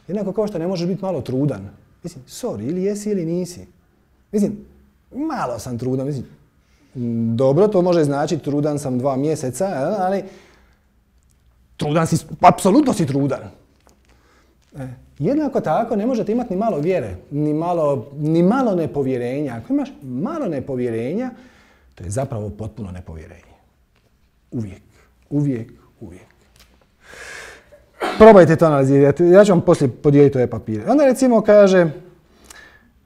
Jednako kao što ne možeš biti malo trudan. Mislim, sorry, ili jesi ili nisi. Mislim, malo sam trudan. Mislim, dobro, to može značiti trudan sam 2 mjeseca, ali trudan si, apsolutno si trudan. Jednako tako ne možete imati ni malo vjere, ni malo nepovjerenja. Ako imaš malo nepovjerenja, to je zapravo potpuno nepovjerenje. Uvijek, uvijek, uvijek. Probajte to analizirati. Ja ću vam poslije podijeliti ove papire. Onda recimo kaže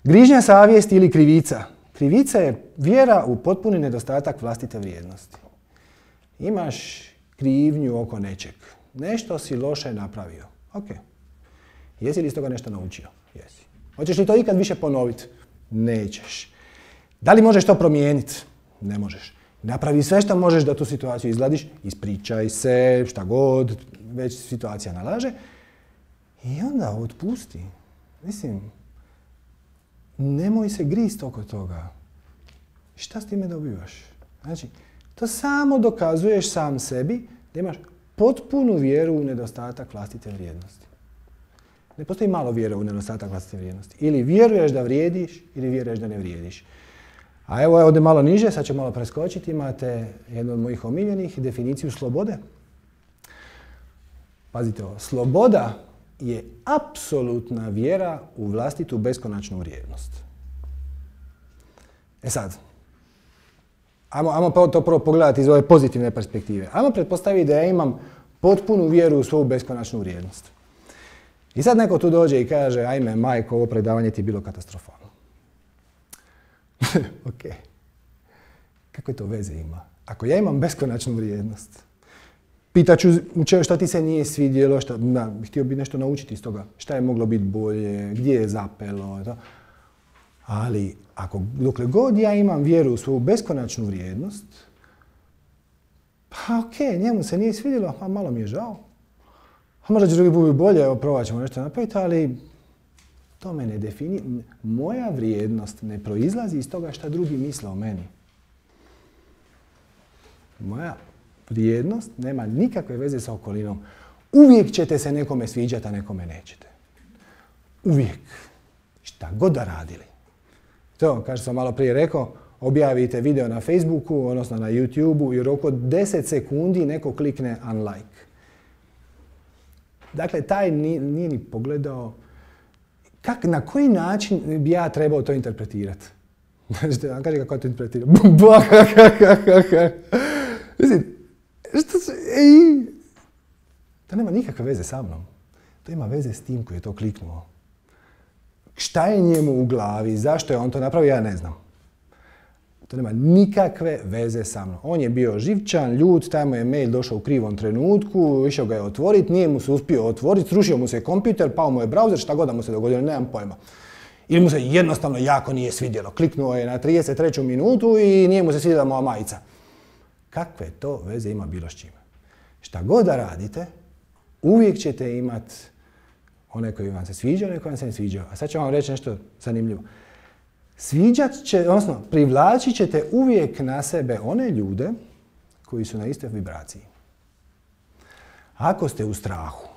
grižnja savjesti ili krivica. Krivica je vjera u potpuni nedostatak vlastite vrijednosti. Imaš krivnju oko nečeg. Nešto si loše napravio. Ok. Jesi li iz toga nešto naučio? Jesi. Hoćeš li to ikad više ponoviti? Nećeš. Da li možeš to promijeniti? Ne možeš. Napravi sve što možeš da tu situaciju izgladiš, ispričaj se, šta god, već situacija nalaže. I onda otpusti. Mislim, nemoj se grist oko toga. Šta s time dobivaš? Znači, to samo dokazuješ sam sebi da imaš potpunu vjeru u nedostatak vlastite vrijednosti. Ne postoji malo vjere u nedostatak vlastite vrijednosti. Ili vjeruješ da vrijediš, ili vjeruješ da ne vrijediš. A evo ovdje malo niže, sad ću malo preskočiti, imate jednu od mojih omiljenih, definiciju slobode. Pazite ovo, sloboda je apsolutna vjera u vlastitu beskonačnu vrijednost. E sad, ajmo to prvo pogledati iz ove pozitivne perspektive. Ajmo pretpostaviti da ja imam potpunu vjeru u svoju beskonačnu vrijednost. I sad neko tu dođe i kaže, ajme majko, ovo predavanje ti je bilo katastrofalno. Ok. Kakve to veze ima? Ako ja imam beskonačnu vrijednost, pitaću šta ti se nije svidjelo, htio bi nešto naučiti iz toga, šta je moglo biti bolje, gdje je zapelo, to. Ali dokle god ja imam vjeru u svoju beskonačnu vrijednost, pa ok, njemu se nije svidjelo, a malo mi je žao. A možda će drugi put biti bolje, evo probat ćemo nešto napraviti, ali to me ne definira. Moja vrijednost ne proizlazi iz toga šta drugi misle o meni. Moja vrijednost nema nikakve veze sa okolinom. Uvijek ćete se nekome sviđati, a nekome nećete. Uvijek. Šta god da radili. To, kao što sam malo prije rekao, objavite video na Facebooku, odnosno na YouTubeu i u roku od 10 sekundi neko klikne unlike. Dakle, taj nije ni pogledao na koji način bi ja trebao to interpretirati. Znači, vam kaže kako to interpretirati. Mislim, to nema nikakve veze sa mnom. To ima veze s tim koji je to kliknuo. Šta je njemu u glavi, zašto je on to napravio, ja ne znam. To nema nikakve veze sa mnom. On je bio živčan, ljut, tamo je mail došao u krivom trenutku, išao ga je otvoriti, nije mu se uspio otvoriti, srušio mu se kompjuter, pao mu je browser, šta god da mu se dogodilo, nemam pojma. Ili mu se jednostavno jako nije svidjelo. Kliknuo je na 33. minutu i nije mu se svidjela moja majica. Kakve to veze ima bilo s čime? Šta god da radite, uvijek ćete imati one koji vam se sviđaju, one koji vam se ne sviđaju. A sad ću vam reći nešto zanimljivo. Privlačit ćete uvijek na sebe one ljude koji su na istoj vibraciji. Ako ste u strahu,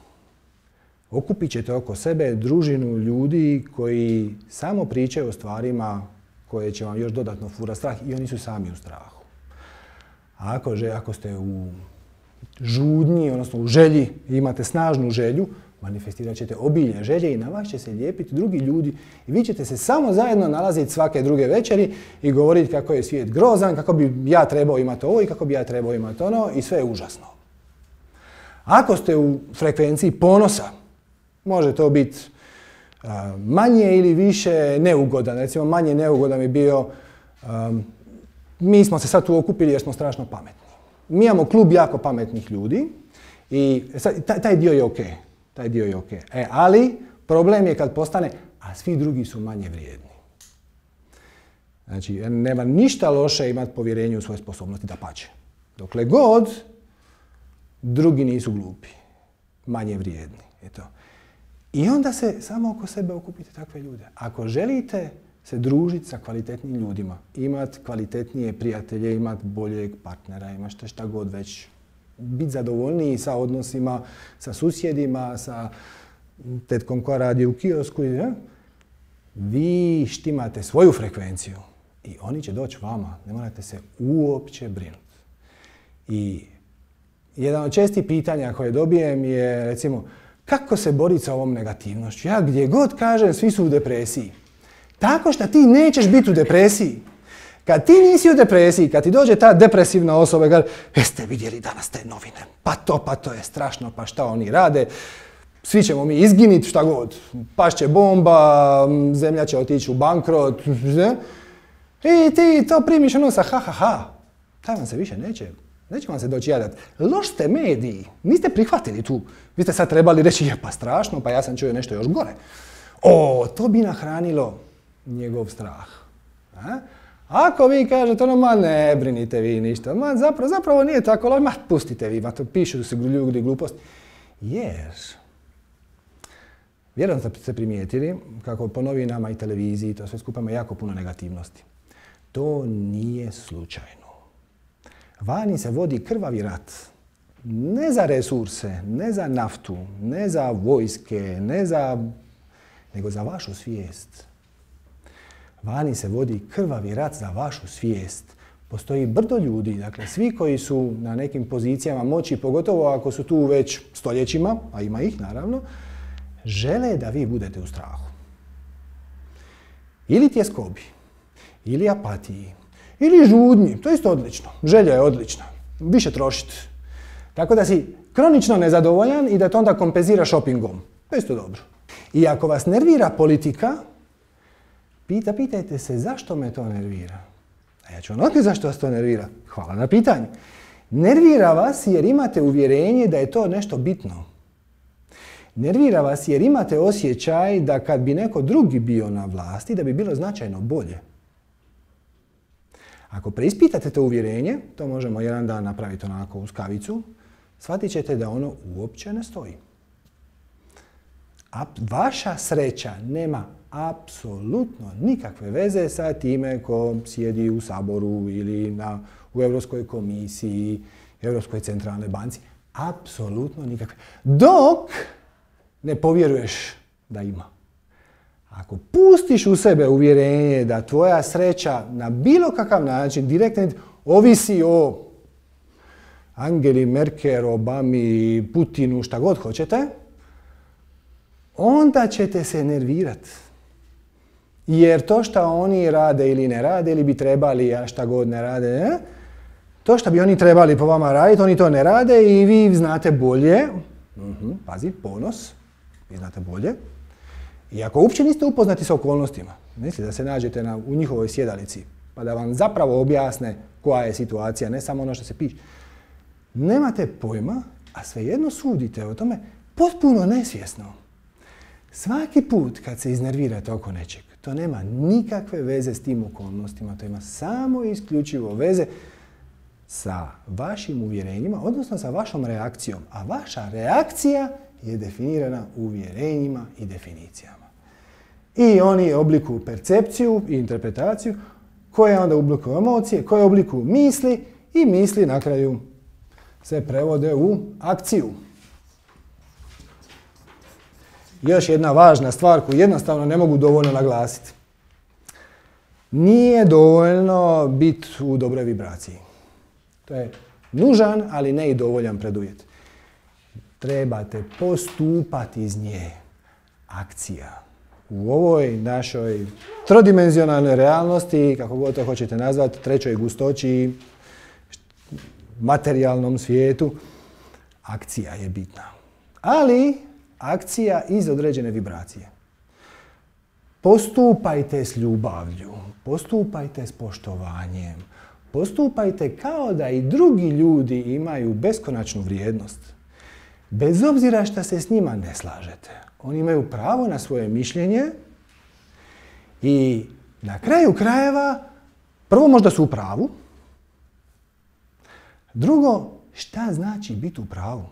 okupit ćete oko sebe družinu ljudi koji samo pričaju o stvarima koje će vam još dodatno furati strah i oni su sami u strahu. A ako ste u žudnji, odnosno u želji, imate snažnu želju, manifestirat ćete obilje želje i na vas će se lijepiti drugi ljudi i vi ćete se samo zajedno nalaziti svake druge večeri i govoriti kako je svijet grozan, kako bi ja trebao imati ovo i kako bi ja trebao imati ono i sve je užasno. Ako ste u frekvenciji ponosa, može to biti manje ili više neugodan. Recimo manje neugodan bi bio mi smo se sad tu okupili jer smo strašno pametni. Mi imamo klub jako pametnih ljudi i taj dio je ok. Taj dio je ok. Ali problem je kad postane, a svi drugi su manje vrijedni. Znači, nema ništa loše imati povjerenje u svoje sposobnosti, dapače. Dokle god drugi nisu glupi, manje vrijedni. Eto. I onda se samo oko sebe okupite takve ljude. Ako želite se družiti sa kvalitetnim ljudima, imati kvalitetnije prijatelje, imati boljeg partnera, imati šta god već, biti zadovoljniji sa odnosima, sa susjedima, sa tetkom koja radi u kiosku, vi štimate svoju frekvenciju i oni će doći vama, ne morate se uopće brinuti. I jedan od čestih pitanja koje dobijem je, recimo, kako se boriti sa ovom negativnošću? Ja gdje god kažem, svi su u depresiji. Tako što ti nećeš biti u depresiji. Kad ti nisi u depresiji, kad ti dođe ta depresivna osoba i kaže jeste vidjeli danas te novine, pa to je strašno, pa šta oni rade, svi ćemo mi izginiti, šta god, pašće bomba, zemlja će otići u bankrot, i ti to primiš ono sa ha, taj vam se više neće vam se doći jadat. Loš ste mediji, niste prihvatili tu, vi ste sad trebali reći je pa strašno, pa ja sam čuo nešto još gore. To bi nahranilo njegov strah. Ako vi kažete ono, ma ne brinite vi ništa, ma zapravo nije tako, ma pustite vi, ma to pišu se ljudi gluposti. Jer, vjerojatno ste primijetili kako po novinama i televiziji to sve skupa ima jako puno negativnosti. To nije slučajno. Vani se vodi krvavi rat. Ne za resurse, ne za naftu, ne za vojske, nego za vašu svijest. Vani se vodi krvavi rat za vašu svijest. Postoji brdo ljudi, dakle svi koji su na nekim pozicijama moći, pogotovo ako su tu već stoljećima, a ima ih naravno, žele da vi budete u strahu. Ili tjeskobi, ili apatiji, ili žudnji, to je isto odlično. Želja je odlična, više trošiti. Tako da si kronično nezadovoljan i da to onda kompenzira šopingom. To je isto dobro. I ako vas nervira politika, pitajte se zašto me to nervira. A ja ću vam otkriti zašto vas to nervira. Hvala na pitanju. Nervira vas jer imate uvjerenje da je to nešto bitno. Nervira vas jer imate osjećaj da kad bi neko drugi bio na vlasti, da bi bilo značajno bolje. Ako preispitate to uvjerenje, to možemo jedan dan napraviti onako uz kavicu, shvatit ćete da ono uopće ne stoji. Vaša sreća nema apsolutno nikakve veze sa time ko sjedi u Saboru ili u Europskoj komisiji, Europskoj centralnoj banci. Apsolutno nikakve. Dok ne povjeruješ da ima. Ako pustiš u sebe uvjerenje da tvoja sreća na bilo kakav način direktno ovisi o Angeli Merkel, Obami, Putinu, šta god hoćete, onda ćete se nervirati. Jer to što oni rade ili ne rade, ili bi trebali, a šta god ne rade, to što bi oni trebali po vama raditi, oni to ne rade i vi znate bolje. Pazi, ponos, vi znate bolje. I ako uopće niste upoznati s okolnostima, mislite da se nađete u njihovoj sjedalici, pa da vam zapravo objasne koja je situacija, ne samo ono što se piše. Nemate pojma, a svejedno sudite o tome potpuno nesvjesno. Svaki put kad se iznervirate oko nečeg, to nema nikakve veze s tim okolnostima, to ima samo i isključivo veze sa vašim uvjerenjima, odnosno sa vašom reakcijom. A vaša reakcija je definirana uvjerenjima i definicijama. I oni oblikuju percepciju i interpretaciju, koje onda oblikuju emocije, koje oblikuju misli i misli na kraju se prevode u akciju. Još jedna važna stvar koju jednostavno ne mogu dovoljno naglasiti. Nije dovoljno biti u dobroj vibraciji. To je nužan, ali ne i dovoljan preduvjet. Trebate postupati iz nje. Akcija. U ovoj našoj trodimenzionalnoj realnosti, kako god to hoćete nazvati, trećoj gustoći, materijalnom svijetu, akcija je bitna. Ali akcija iz određene vibracije. Postupajte s ljubavlju, postupajte s poštovanjem, postupajte kao da i drugi ljudi imaju beskonačnu vrijednost. Bez obzira što se s njima ne slažete. Oni imaju pravo na svoje mišljenje i na kraju krajeva, prvo možda su u pravu, drugo, šta znači biti u pravu?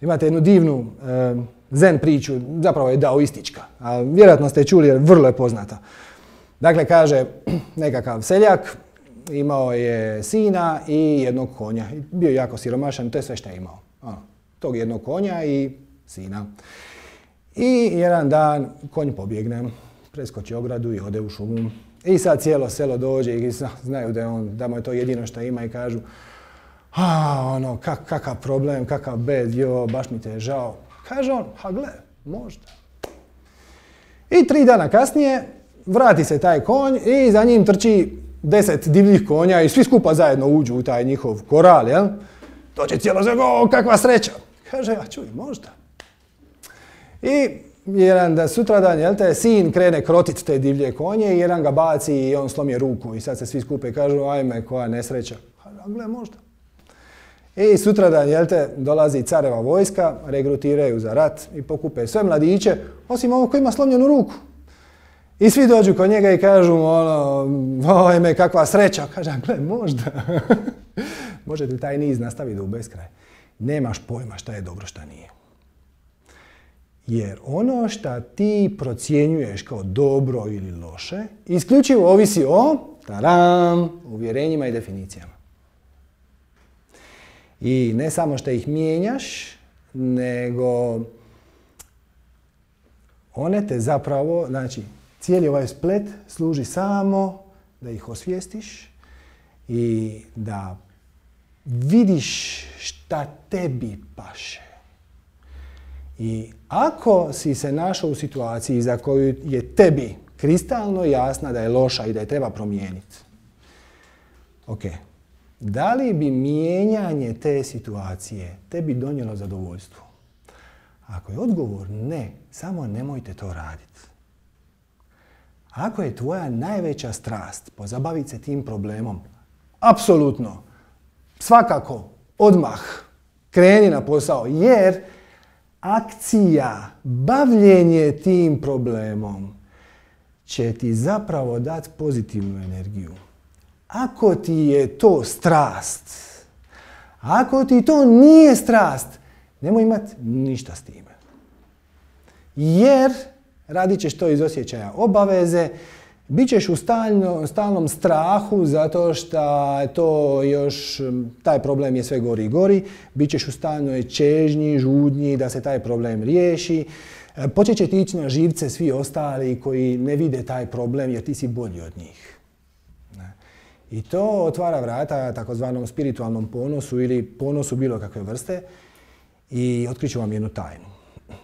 Imate jednu divnu zen priču, zapravo je daoistička, a vjerojatno ste čuli jer vrlo je poznata. Dakle, kaže nekakav seljak, imao je sina i jednog konja. Bio je jako siromašan, to je sve što je imao. Tog jednog konja i sina. I jedan dan konj pobjegne, preskoči ogradu i ode u šumu. I sad cijelo selo dođe i znaju da mu je to jedino što ima i kažu kakav problem, kakav bed, baš mi te je žao. Kaže on, gle, možda. I 3 dana kasnije vrati se taj konj i za njim trči 10 divljih konja i svi skupa zajedno uđu u taj njihov koral, jel? To će cijelo sve, o, kakva sreća. Kaže, a čuj, možda. I jedan da sutradan, jel te, sin krene krotit te divlje konje i jedan ga baci i on slomi ruku i sad se svi skupe i kažu, ajme, koja nesreća. A gle, možda. I sutradan, jel te, dolazi careva vojska, regrutiraju za rat i pokupe sve mladiće, osim ovog koji ima slomljenu ruku. I svi dođu kod njega i kažu, ono, ojme, kakva sreća. Kaže, gle, možda. Možete taj niz nastaviti u beskraj. Nemaš pojma šta je dobro, šta nije. Jer ono šta ti procjenjuješ kao dobro ili loše, isključivo ovisi o uvjerenjima i definicijama. I ne samo što ih mijenjaš, nego one te zapravo, znači, cijeli ovaj splet služi samo da ih osvijestiš i da vidiš šta tebi paše. I ako si se našao u situaciji za koju je tebi kristalno jasna da je loša i da je treba promijeniti, ok, da li bi mijenjanje te situacije tebi donijelo zadovoljstvo? Ako je odgovor ne, samo nemojte to raditi. Ako je tvoja najveća strast pozabaviti se tim problemom, apsolutno, svakako, odmah, kreni na posao, jer akcija, bavljenje tim problemom će ti zapravo dati pozitivnu energiju. Ako ti je to strast, ako ti to nije strast, nemoj imati ništa s time. Jer radit ćeš to iz osjećaja obaveze, bit ćeš u stalnom strahu zato što to još, taj problem je sve gori i gori, bit ćeš u stalnoj čežnji, žudnji da se taj problem riješi, počet će ti ići na živce svi ostali koji ne vide taj problem jer ti si bolji od njih. I to otvara vrata takozvanom spiritualnom ponosu ili ponosu bilo kakve vrste i otkriću vam jednu tajnu,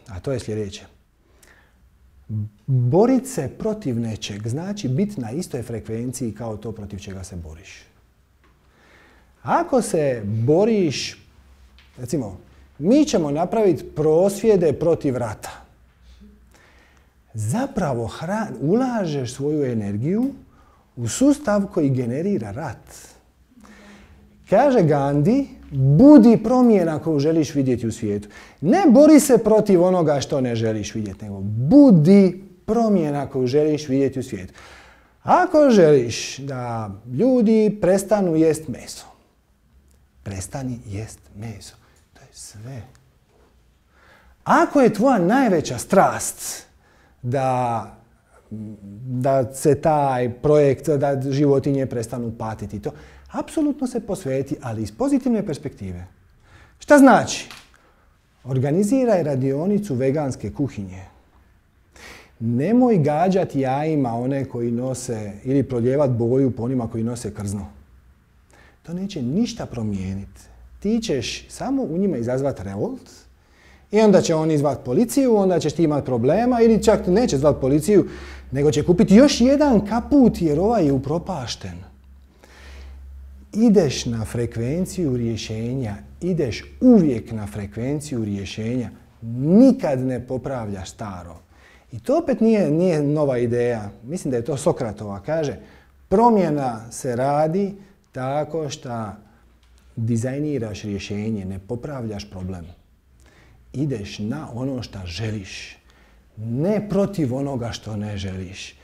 a to je sljedeće. Borit se protiv nečeg znači biti na istoj frekvenciji kao to protiv čega se boriš. Ako se boriš, recimo, mi ćemo napraviti prosvjede protiv rata. Zapravo ulažeš svoju energiju u sustav koji generira rat. Kaže Gandhi, budi promjena koju želiš vidjeti u svijetu. Ne bori se protiv onoga što ne želiš vidjeti, nego budi promjena koju želiš vidjeti u svijetu. Ako želiš da ljudi prestanu jest meso, prestani jest meso. To je sve. Ako je tvoja najveća strast da se taj projekt, da životinje prestanu patiti, to apsolutno se posveti, ali iz pozitivne perspektive. Šta znači? Organiziraj radionicu veganske kuhinje. Nemoj gađati jajima one koji nose ili proljevati boju po onima koji nose krzno. To neće ništa promijeniti. Ti ćeš samo u njima izazvati revolt i onda će oni zvati policiju, onda ćeš ti imati problema ili čak neće zvati policiju, nego će kupiti još jedan kaput jer ovaj je upropašten. Ideš na frekvenciju rješenja, ideš uvijek na frekvenciju rješenja, nikad ne popravljaš staro. I to opet nije nova ideja, mislim da je to Sokratova, kaže promjena se radi tako što dizajniraš rješenje, ne popravljaš problem. Ideš na ono što želiš, ne protiv onoga što ne želiš,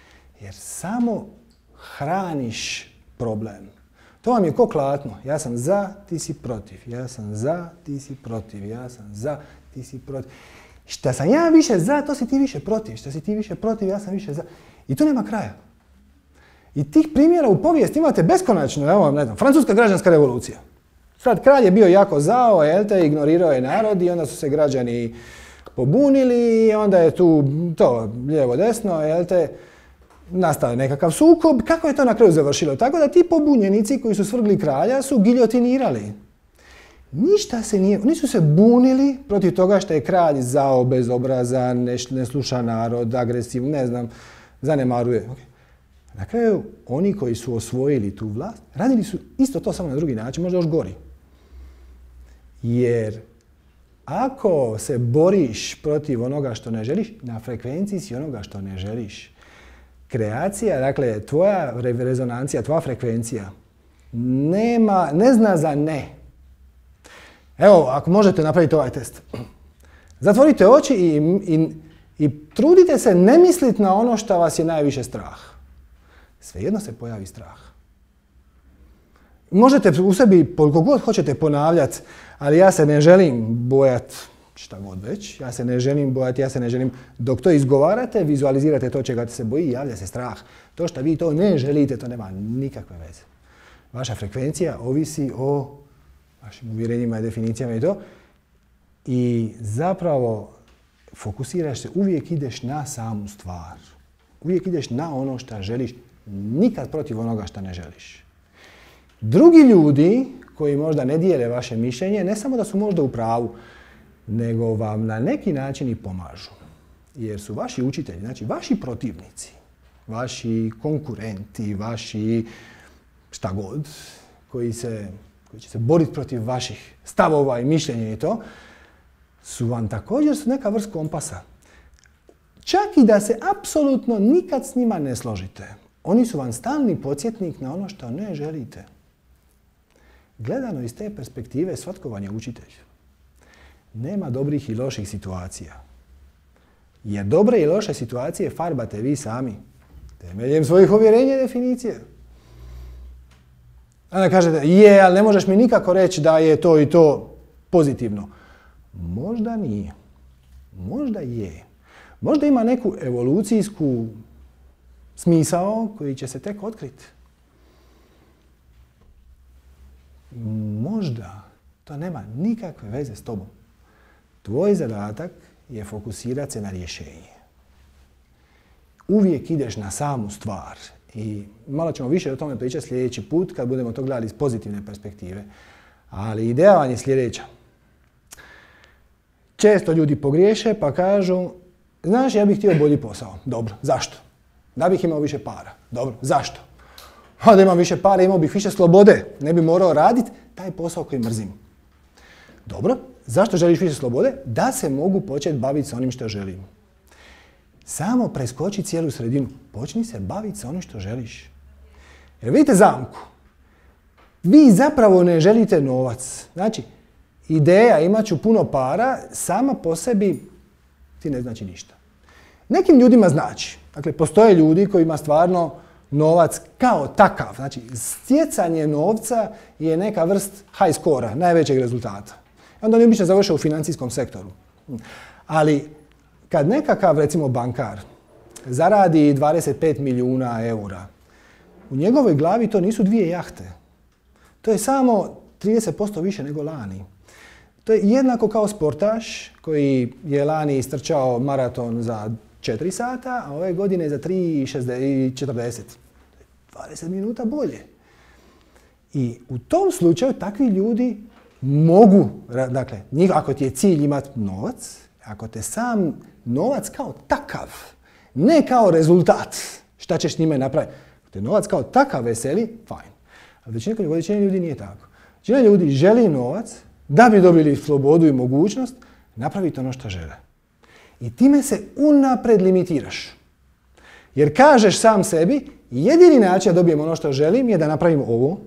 jer samo hraniš problem. To vam je ko klatno. Ja sam za, ti si protiv. Ja sam za, ti si protiv. Ja sam za, ti si protiv. Šta sam ja više za, to si ti više protiv. Šta si ti više protiv, ja sam više za. I tu nema kraja. I tih primjera u povijesti imate beskonačno. Evo, ne znam, Francuska građanska revolucija. Sad, kralj je bio jako zao, ignorirao je narod i onda su se građani pobunili i onda je tu to lijevo desno, nastao je nekakav sukob. Kako je to na kraju završilo? Tako da ti pobunjenici koji su svrgli kralja su giljotinirali. Ništa se nije, oni su se bunili protiv toga što je kralj zao, bezobrazan, ne sluša narod, agresiv, ne znam, zanemaruje. Na kraju, oni koji su osvojili tu vlast, radili su isto to samo na drugi način, možda još gori. Jer ako se boriš protiv onoga što ne želiš, na frekvenciji si onoga što ne želiš. Kreacija, dakle, tvoja rezonancija, tvoja frekvencija, ne zna za ne. Evo, ako možete napraviti ovaj test. Zatvorite oči i trudite se ne misliti na ono što vas je najviše strah. Svejedno se pojavi strah. Možete u sebi koliko god hoćete ponavljati, ali ja se ne želim bojati šta god već, ja se ne želim bojati, ja se ne želim. Dok to izgovarate, vizualizirate to čega se boji, javlja se strah. To što vi to ne želite, to nema nikakve veze. Vaša frekvencija ovisi o vašim uvjerenjima i definicijama i to. I zapravo fokusiraš se, uvijek ideš na samu stvar. Uvijek ideš na ono što želiš, nikad protiv onoga što ne želiš. Drugi ljudi koji možda ne dijele vaše mišljenje, ne samo da su možda u pravu, nego vam na neki način i pomažu. Jer su vaši učitelji, znači vaši protivnici, vaši konkurenti, vaši šta god, koji će se boriti protiv vaših stavova i mišljenja i to, su vam također neka vrst kompasa. Čak i da se apsolutno nikad s njima ne složite. Oni su vam stalni podsjetnik na ono što ne želite. Gledano iz te perspektive, svatko vam je učitelj. Nema dobrih i loših situacija. Jer dobre i loše situacije farbate vi sami. Temeljem svojih uvjerenja i definicije. Onda kažete, ali ne možeš mi nikako reći da je to i to pozitivno. Možda nije. Možda je. Možda ima neku evolucijsku smisao koji će se tek otkriti. Možda to nema nikakve veze s tobom. Tvoj zadatak je fokusirati se na rješenje. Uvijek ideš na samu stvar. I malo ćemo više o tome pričati sljedeći put kad budemo to gledali iz pozitivne perspektive. Ali ideja vam je sljedeća. Često ljudi pogriješe pa kažu, znaš, ja bih htio bolji posao. Dobro, zašto? Da bih imao više para. Dobro, zašto? Da imam više para, imao bih više slobode. Ne bi morao raditi taj posao koji mrzim. Dobro, zašto želiš više slobode? Da se mogu početi baviti sa onim što želim. Samo preskoči cijelu sredinu. Počni se baviti sa onim što želiš. Jer vidite zamku. Vi zapravo ne želite novac. Znači, ideja imat ću puno para, sama po sebi ti ne znači ništa. Nekim ljudima znači. Dakle, postoje ljudi kojima stvarno novac kao takav. Znači, stjecanje novca je neka vrst high score-a, najvećeg rezultata. Onda oni obično završe u financijskom sektoru. Ali, kad nekakav, recimo, bankar zaradi 25 milijuna eura, u njegovoj glavi to nisu 2 jahte. To je samo 30% više nego lani. To je jednako kao sportaš koji je lani istrčao maraton za 4 sata, a ove godine za 3,40. 20 minuta bolje. I u tom slučaju takvi ljudi mogu, dakle, ako ti je cilj imati novac, ako te sam novac kao takav, ne kao rezultat, šta ćeš s njime napraviti. Ako te novac kao takav veseli, fajn. Ali većina ljudi nije tako. Većina ljudi želi novac da bi dobili slobodu i mogućnost napraviti ono što žele. I time se unaprijed limitiraš. Jer kažeš sam sebi, jedini način da dobijem ono što želim je da napravim ovo,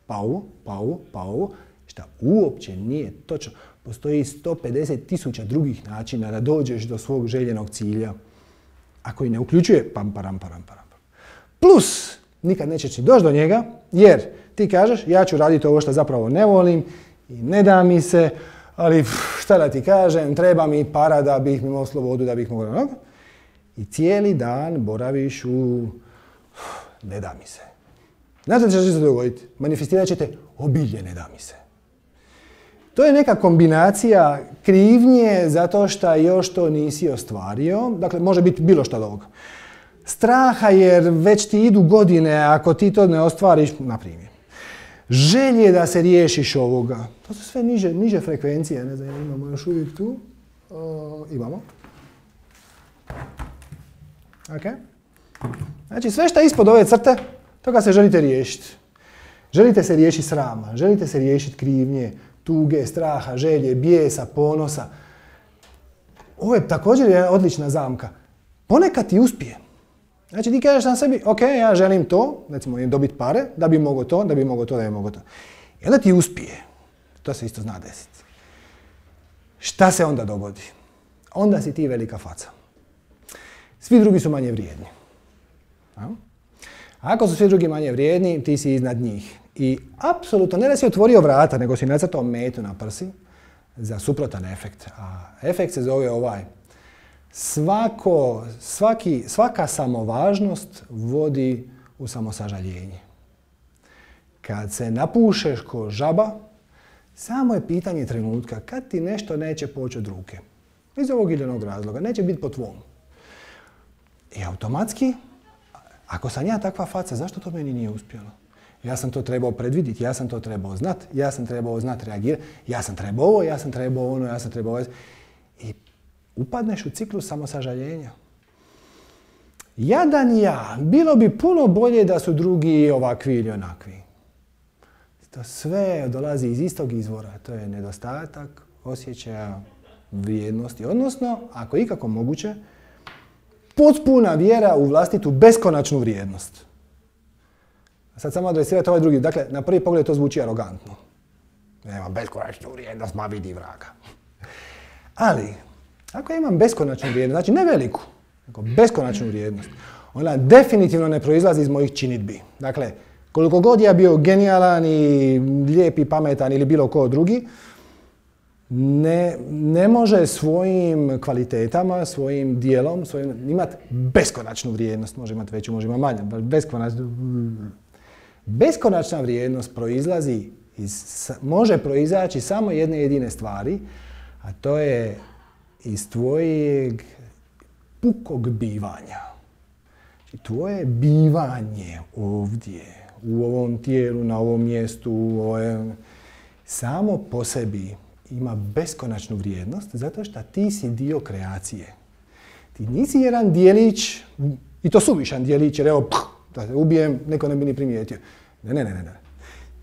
pa ovo, pa ovo, pa ovo, šta uopće nije točno. Postoji 150.000 drugih načina da dođeš do svog željenog cilja, a koji ne uključuje pam, param, param, param. Plus, nikad nećeš ni doći do njega, jer ti kažeš, ja ću raditi ovo što zapravo ne volim i ne da mi se, ali šta da ti kažem, treba mi para da bih imao slobodu, da bih mogao. I cijeli dan boraviš u ne da mi se. Znate što će se dogoditi? Manifestirat ćete obilje ne da mi se. To je neka kombinacija krivnje zato što još to nisi ostvario. Dakle, može biti bilo što od ovoga. Straha jer već ti idu godine ako ti to ne ostvariš, na primjer. Želje da se riješiš ovoga. To su sve niže frekvencije. Ne znam, imamo još uvijek tu. Imamo. Ok. Znači sve što je ispod ove crte, toga se želite riješiti. Želite se riješiti srama, želite se riješiti krivnje, tuge, straha, želje, bijesa, ponosa. Ovo je također jedna odlična zamka. Ponekad ti uspije. Znači ti kažeš sam sebi, ok, ja želim to, recimo dobiti pare, da bi mogao to, da bi mogao to, da bi mogao to. I onda ti uspije. To se isto zna desiti. Šta se onda dogodi? Onda si ti velika faca. Svi drugi su manje vrijedni. A ako su svi drugi manje vrijedni, ti si iznad njih. I apsolutno, ne da si otvorio vrata, nego si nacrtao metu na prsi za suprotan efekt. A efekt se zove ovaj. Svaka samovažnost vodi u samosažaljenje. Kad se napušeš ko žaba, samo je pitanje trenutka kad ti nešto neće poći od ruke. Iz ovog ili onog razloga. Neće biti po tvom. I automatski, ako sam ja takva faca, zašto to meni nije uspjelo? Ja sam to trebao predvidjeti, ja sam to trebao znati, ja sam trebao znati reagirati, ja sam trebao ovo, ja sam trebao ono, ja sam trebao ovo. I upadneš u ciklus samosažaljenja. Jadan ja, bilo bi puno bolje da su drugi ovakvi ili onakvi. To sve dolazi iz istog izvora, to je nedostatak osjećaja vrijednosti, odnosno, ako je ikako moguće, potpuna vjera u vlastitu beskonačnu vrijednost. Sad samo adresirati ovaj drugi. Dakle, na prvi pogled to zvuči arogantno. Nema beskonačnu vrijednost, ma vidi vraga. Ali, ako imam beskonačnu vrijednost, znači ne veliku, nego beskonačnu vrijednost, ona definitivno ne proizlazi iz mojih činidbi. Dakle, koliko god ja bio genijalan i lijep i pametan ili bilo ko drugi, ne može svojim kvalitetama, svojim dijelom, imati beskonačnu vrijednost. Može imati veću, može imati manju. Beskonačna vrijednost može proizaći samo jedne jedine stvari, a to je iz tvojeg pukog bivanja. Tvoje bivanje ovdje, u ovom tijelu, na ovom mjestu, samo po sebi ima beskonačnu vrijednost zato što ti si dio kreacije. Ti nisi jedan dijelić, i to suvišan dijelić, jer evo, da te ubijem, neko ne bi ni primijetio. Ne.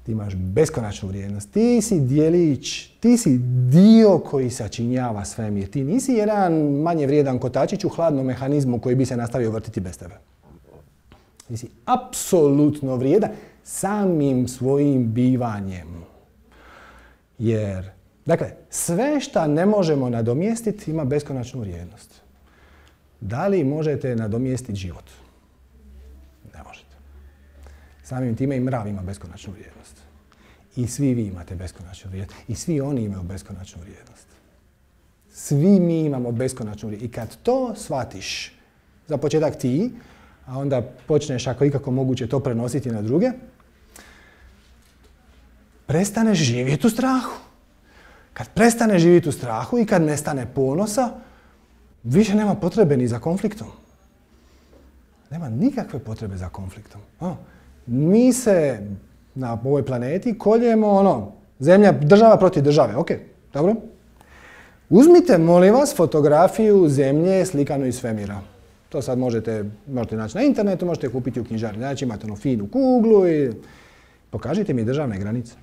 Ti imaš beskonačnu vrijednost. Ti si dijelić, ti si dio koji sačinjava svemir. Ti nisi jedan manje vrijedan kotačić u hladnom mehanizmu koji bi se nastavio vrtiti bez tebe. Ti si apsolutno vrijedan samim svojim bivanjem. Jer, dakle, sve što ne možemo nadomjestiti ima beskonačnu vrijednost. Da li možete nadomjestiti život? Ne možete. Samim time i mrav ima beskonačnu vrijednost. I svi vi imate beskonačnu vrijednost. I svi oni imaju beskonačnu vrijednost. Svi mi imamo beskonačnu vrijednost. I kad to shvatiš, za početak ti, a onda počneš ako ikako moguće to prenositi na druge, prestaneš živjeti u strahu. Kad prestaneš živjeti u strahu i kad nestane ponosa, više nema potrebe ni za konfliktom. Nema nikakve potrebe za konfliktom. Mi se na ovoj planeti koljemo zemlja, država protiv države. Ok, dobro. Uzmite, molim vas, fotografiju zemlje slikanu iz svemira. To sad možete naći na internetu, možete kupiti u knjižari. Znači imate finu kuglu i pokažite mi državne granice.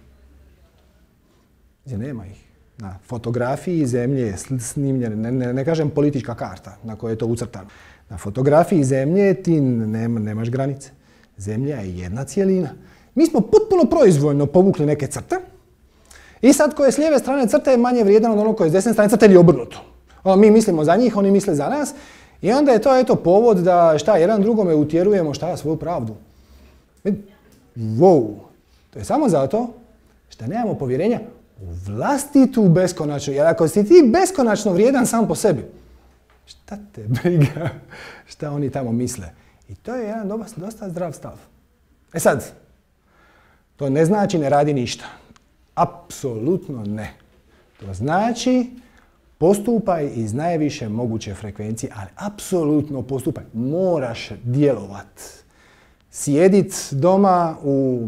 Nema ih. Na fotografiji zemlje je snimljena, ne kažem politička karta na kojoj je to ucrtano. Na fotografiji zemlje ti nemaš granice. Zemlja je jedna cijelina. Mi smo potpuno proizvoljno povukli neke crte i sad ko je s lijeve strane crte je manje vrijedan od onog koji je s desne strane crte ili obrnuto. Mi mislimo za njih, oni misle za nas i onda je to povod da jedan drugome utjerujemo svoju pravdu. Wow! To je samo zato što nemamo povjerenja u vlastitu beskonačnu. Jer ako si ti beskonačno vrijedan sam po sebi, šta te briga šta oni tamo misle? I to je jedan dosta zdrav stav. E sad, to ne znači ne radi ništa. Apsolutno ne. To znači postupaj iz najviše moguće frekvencije, ali apsolutno postupaj. Moraš djelovat. Sjedit doma u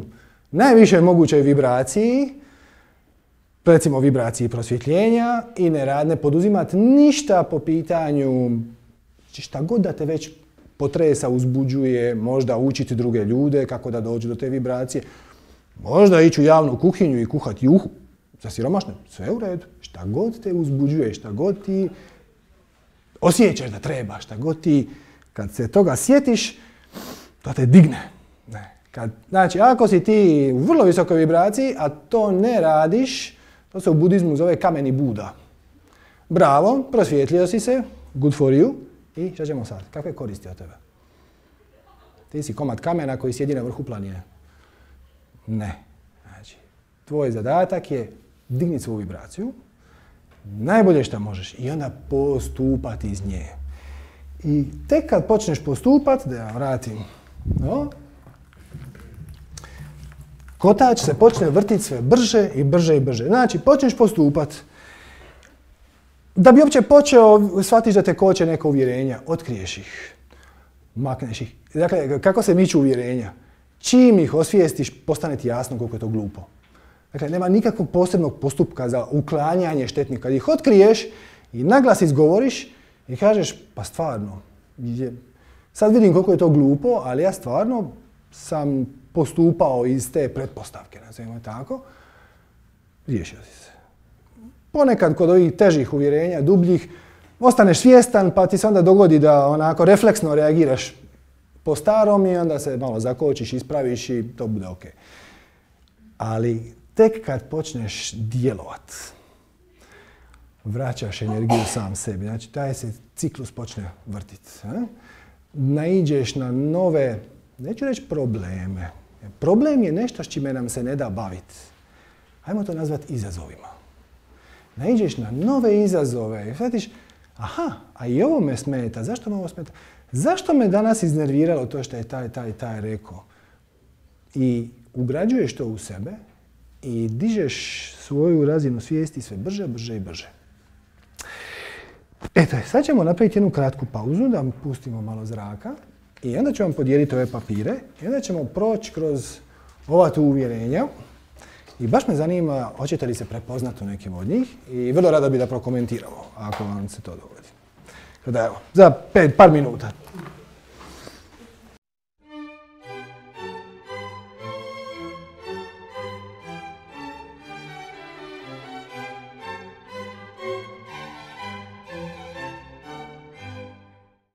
najviše mogućoj vibraciji, recimo vibraciji prosvjetljenja i ne poduzimati ništa po pitanju šta god da te već potresa, uzbuđuje, možda učiti druge ljude kako da dođu do te vibracije, možda ići u javnu kuhinju i kuhati juhu za siromašne, sve u redu. Šta god te uzbuđuje, šta god ti osjećaš da treba, šta god ti, kad se toga sjetiš, to te digne. Znači, ako si ti u vrlo visokoj vibraciji, a to ne radiš, to se u budizmu zove kameni Buda. Bravo, prosvjetlio si se, good for you. I šta ćemo sad? Kakve koristi od tebe? Ti si komad kamena koji sjedi na vrhu planine. Ne. Znači, tvoj zadatak je digni svoju vibraciju, najbolje što možeš, i onda postupati iz nje. I tek kad počneš postupati, da ja vratim, kotač se počne vrtiti sve brže i brže i brže. Znači, počneš postupati. Da bi uopće počeo, shvatiš da te koče neka uvjerenja, otkriješ ih, makneš ih. Dakle, kako se miču uvjerenja? Čim ih osvijestiš, postane ti jasno koliko je to glupo. Dakle, nema nikakvog posebnog postupka za uklanjanje štetnika. Kad ih otkriješ i naglas izgovoriš i kažeš, pa stvarno, sad vidim koliko je to glupo, ali ja stvarno sam postupao iz te pretpostavke, nazovimo tako, riješio si se. Ponekad kod ovih težih uvjerenja, dubljih, ostaneš svjestan pa ti se onda dogodi da onako refleksno reagiraš po starom i onda se malo zakočiš, ispraviš i to bude ok. Ali tek kad počneš djelovat, vraćaš energiju sam sebi. Znači, taj se ciklus počne vrtiti. Naiđeš na nove, neću reći probleme. Problem je nešto s čime nam se ne da baviti. Hajmo to nazvati izazovima. Naiđeš na nove izazove i shvatiš, aha, a i ovo me smeta. Zašto me ovo smeta? Zašto me danas iznerviralo to što je taj rekao? I ugrađuješ to u sebe i dižeš svoju razinu svijesti sve brže, brže i brže. Eto, sad ćemo napraviti jednu kratku pauzu, da pustimo malo zraka i onda ću vam podijeliti ove papire i onda ćemo proći kroz ova tu uvjerenja i baš me zanima hoćete li se prepoznati u nekim od njih i vrlo rado bi da prokomentiramo ako vam se to dogodi. Tako da evo, za par minuta.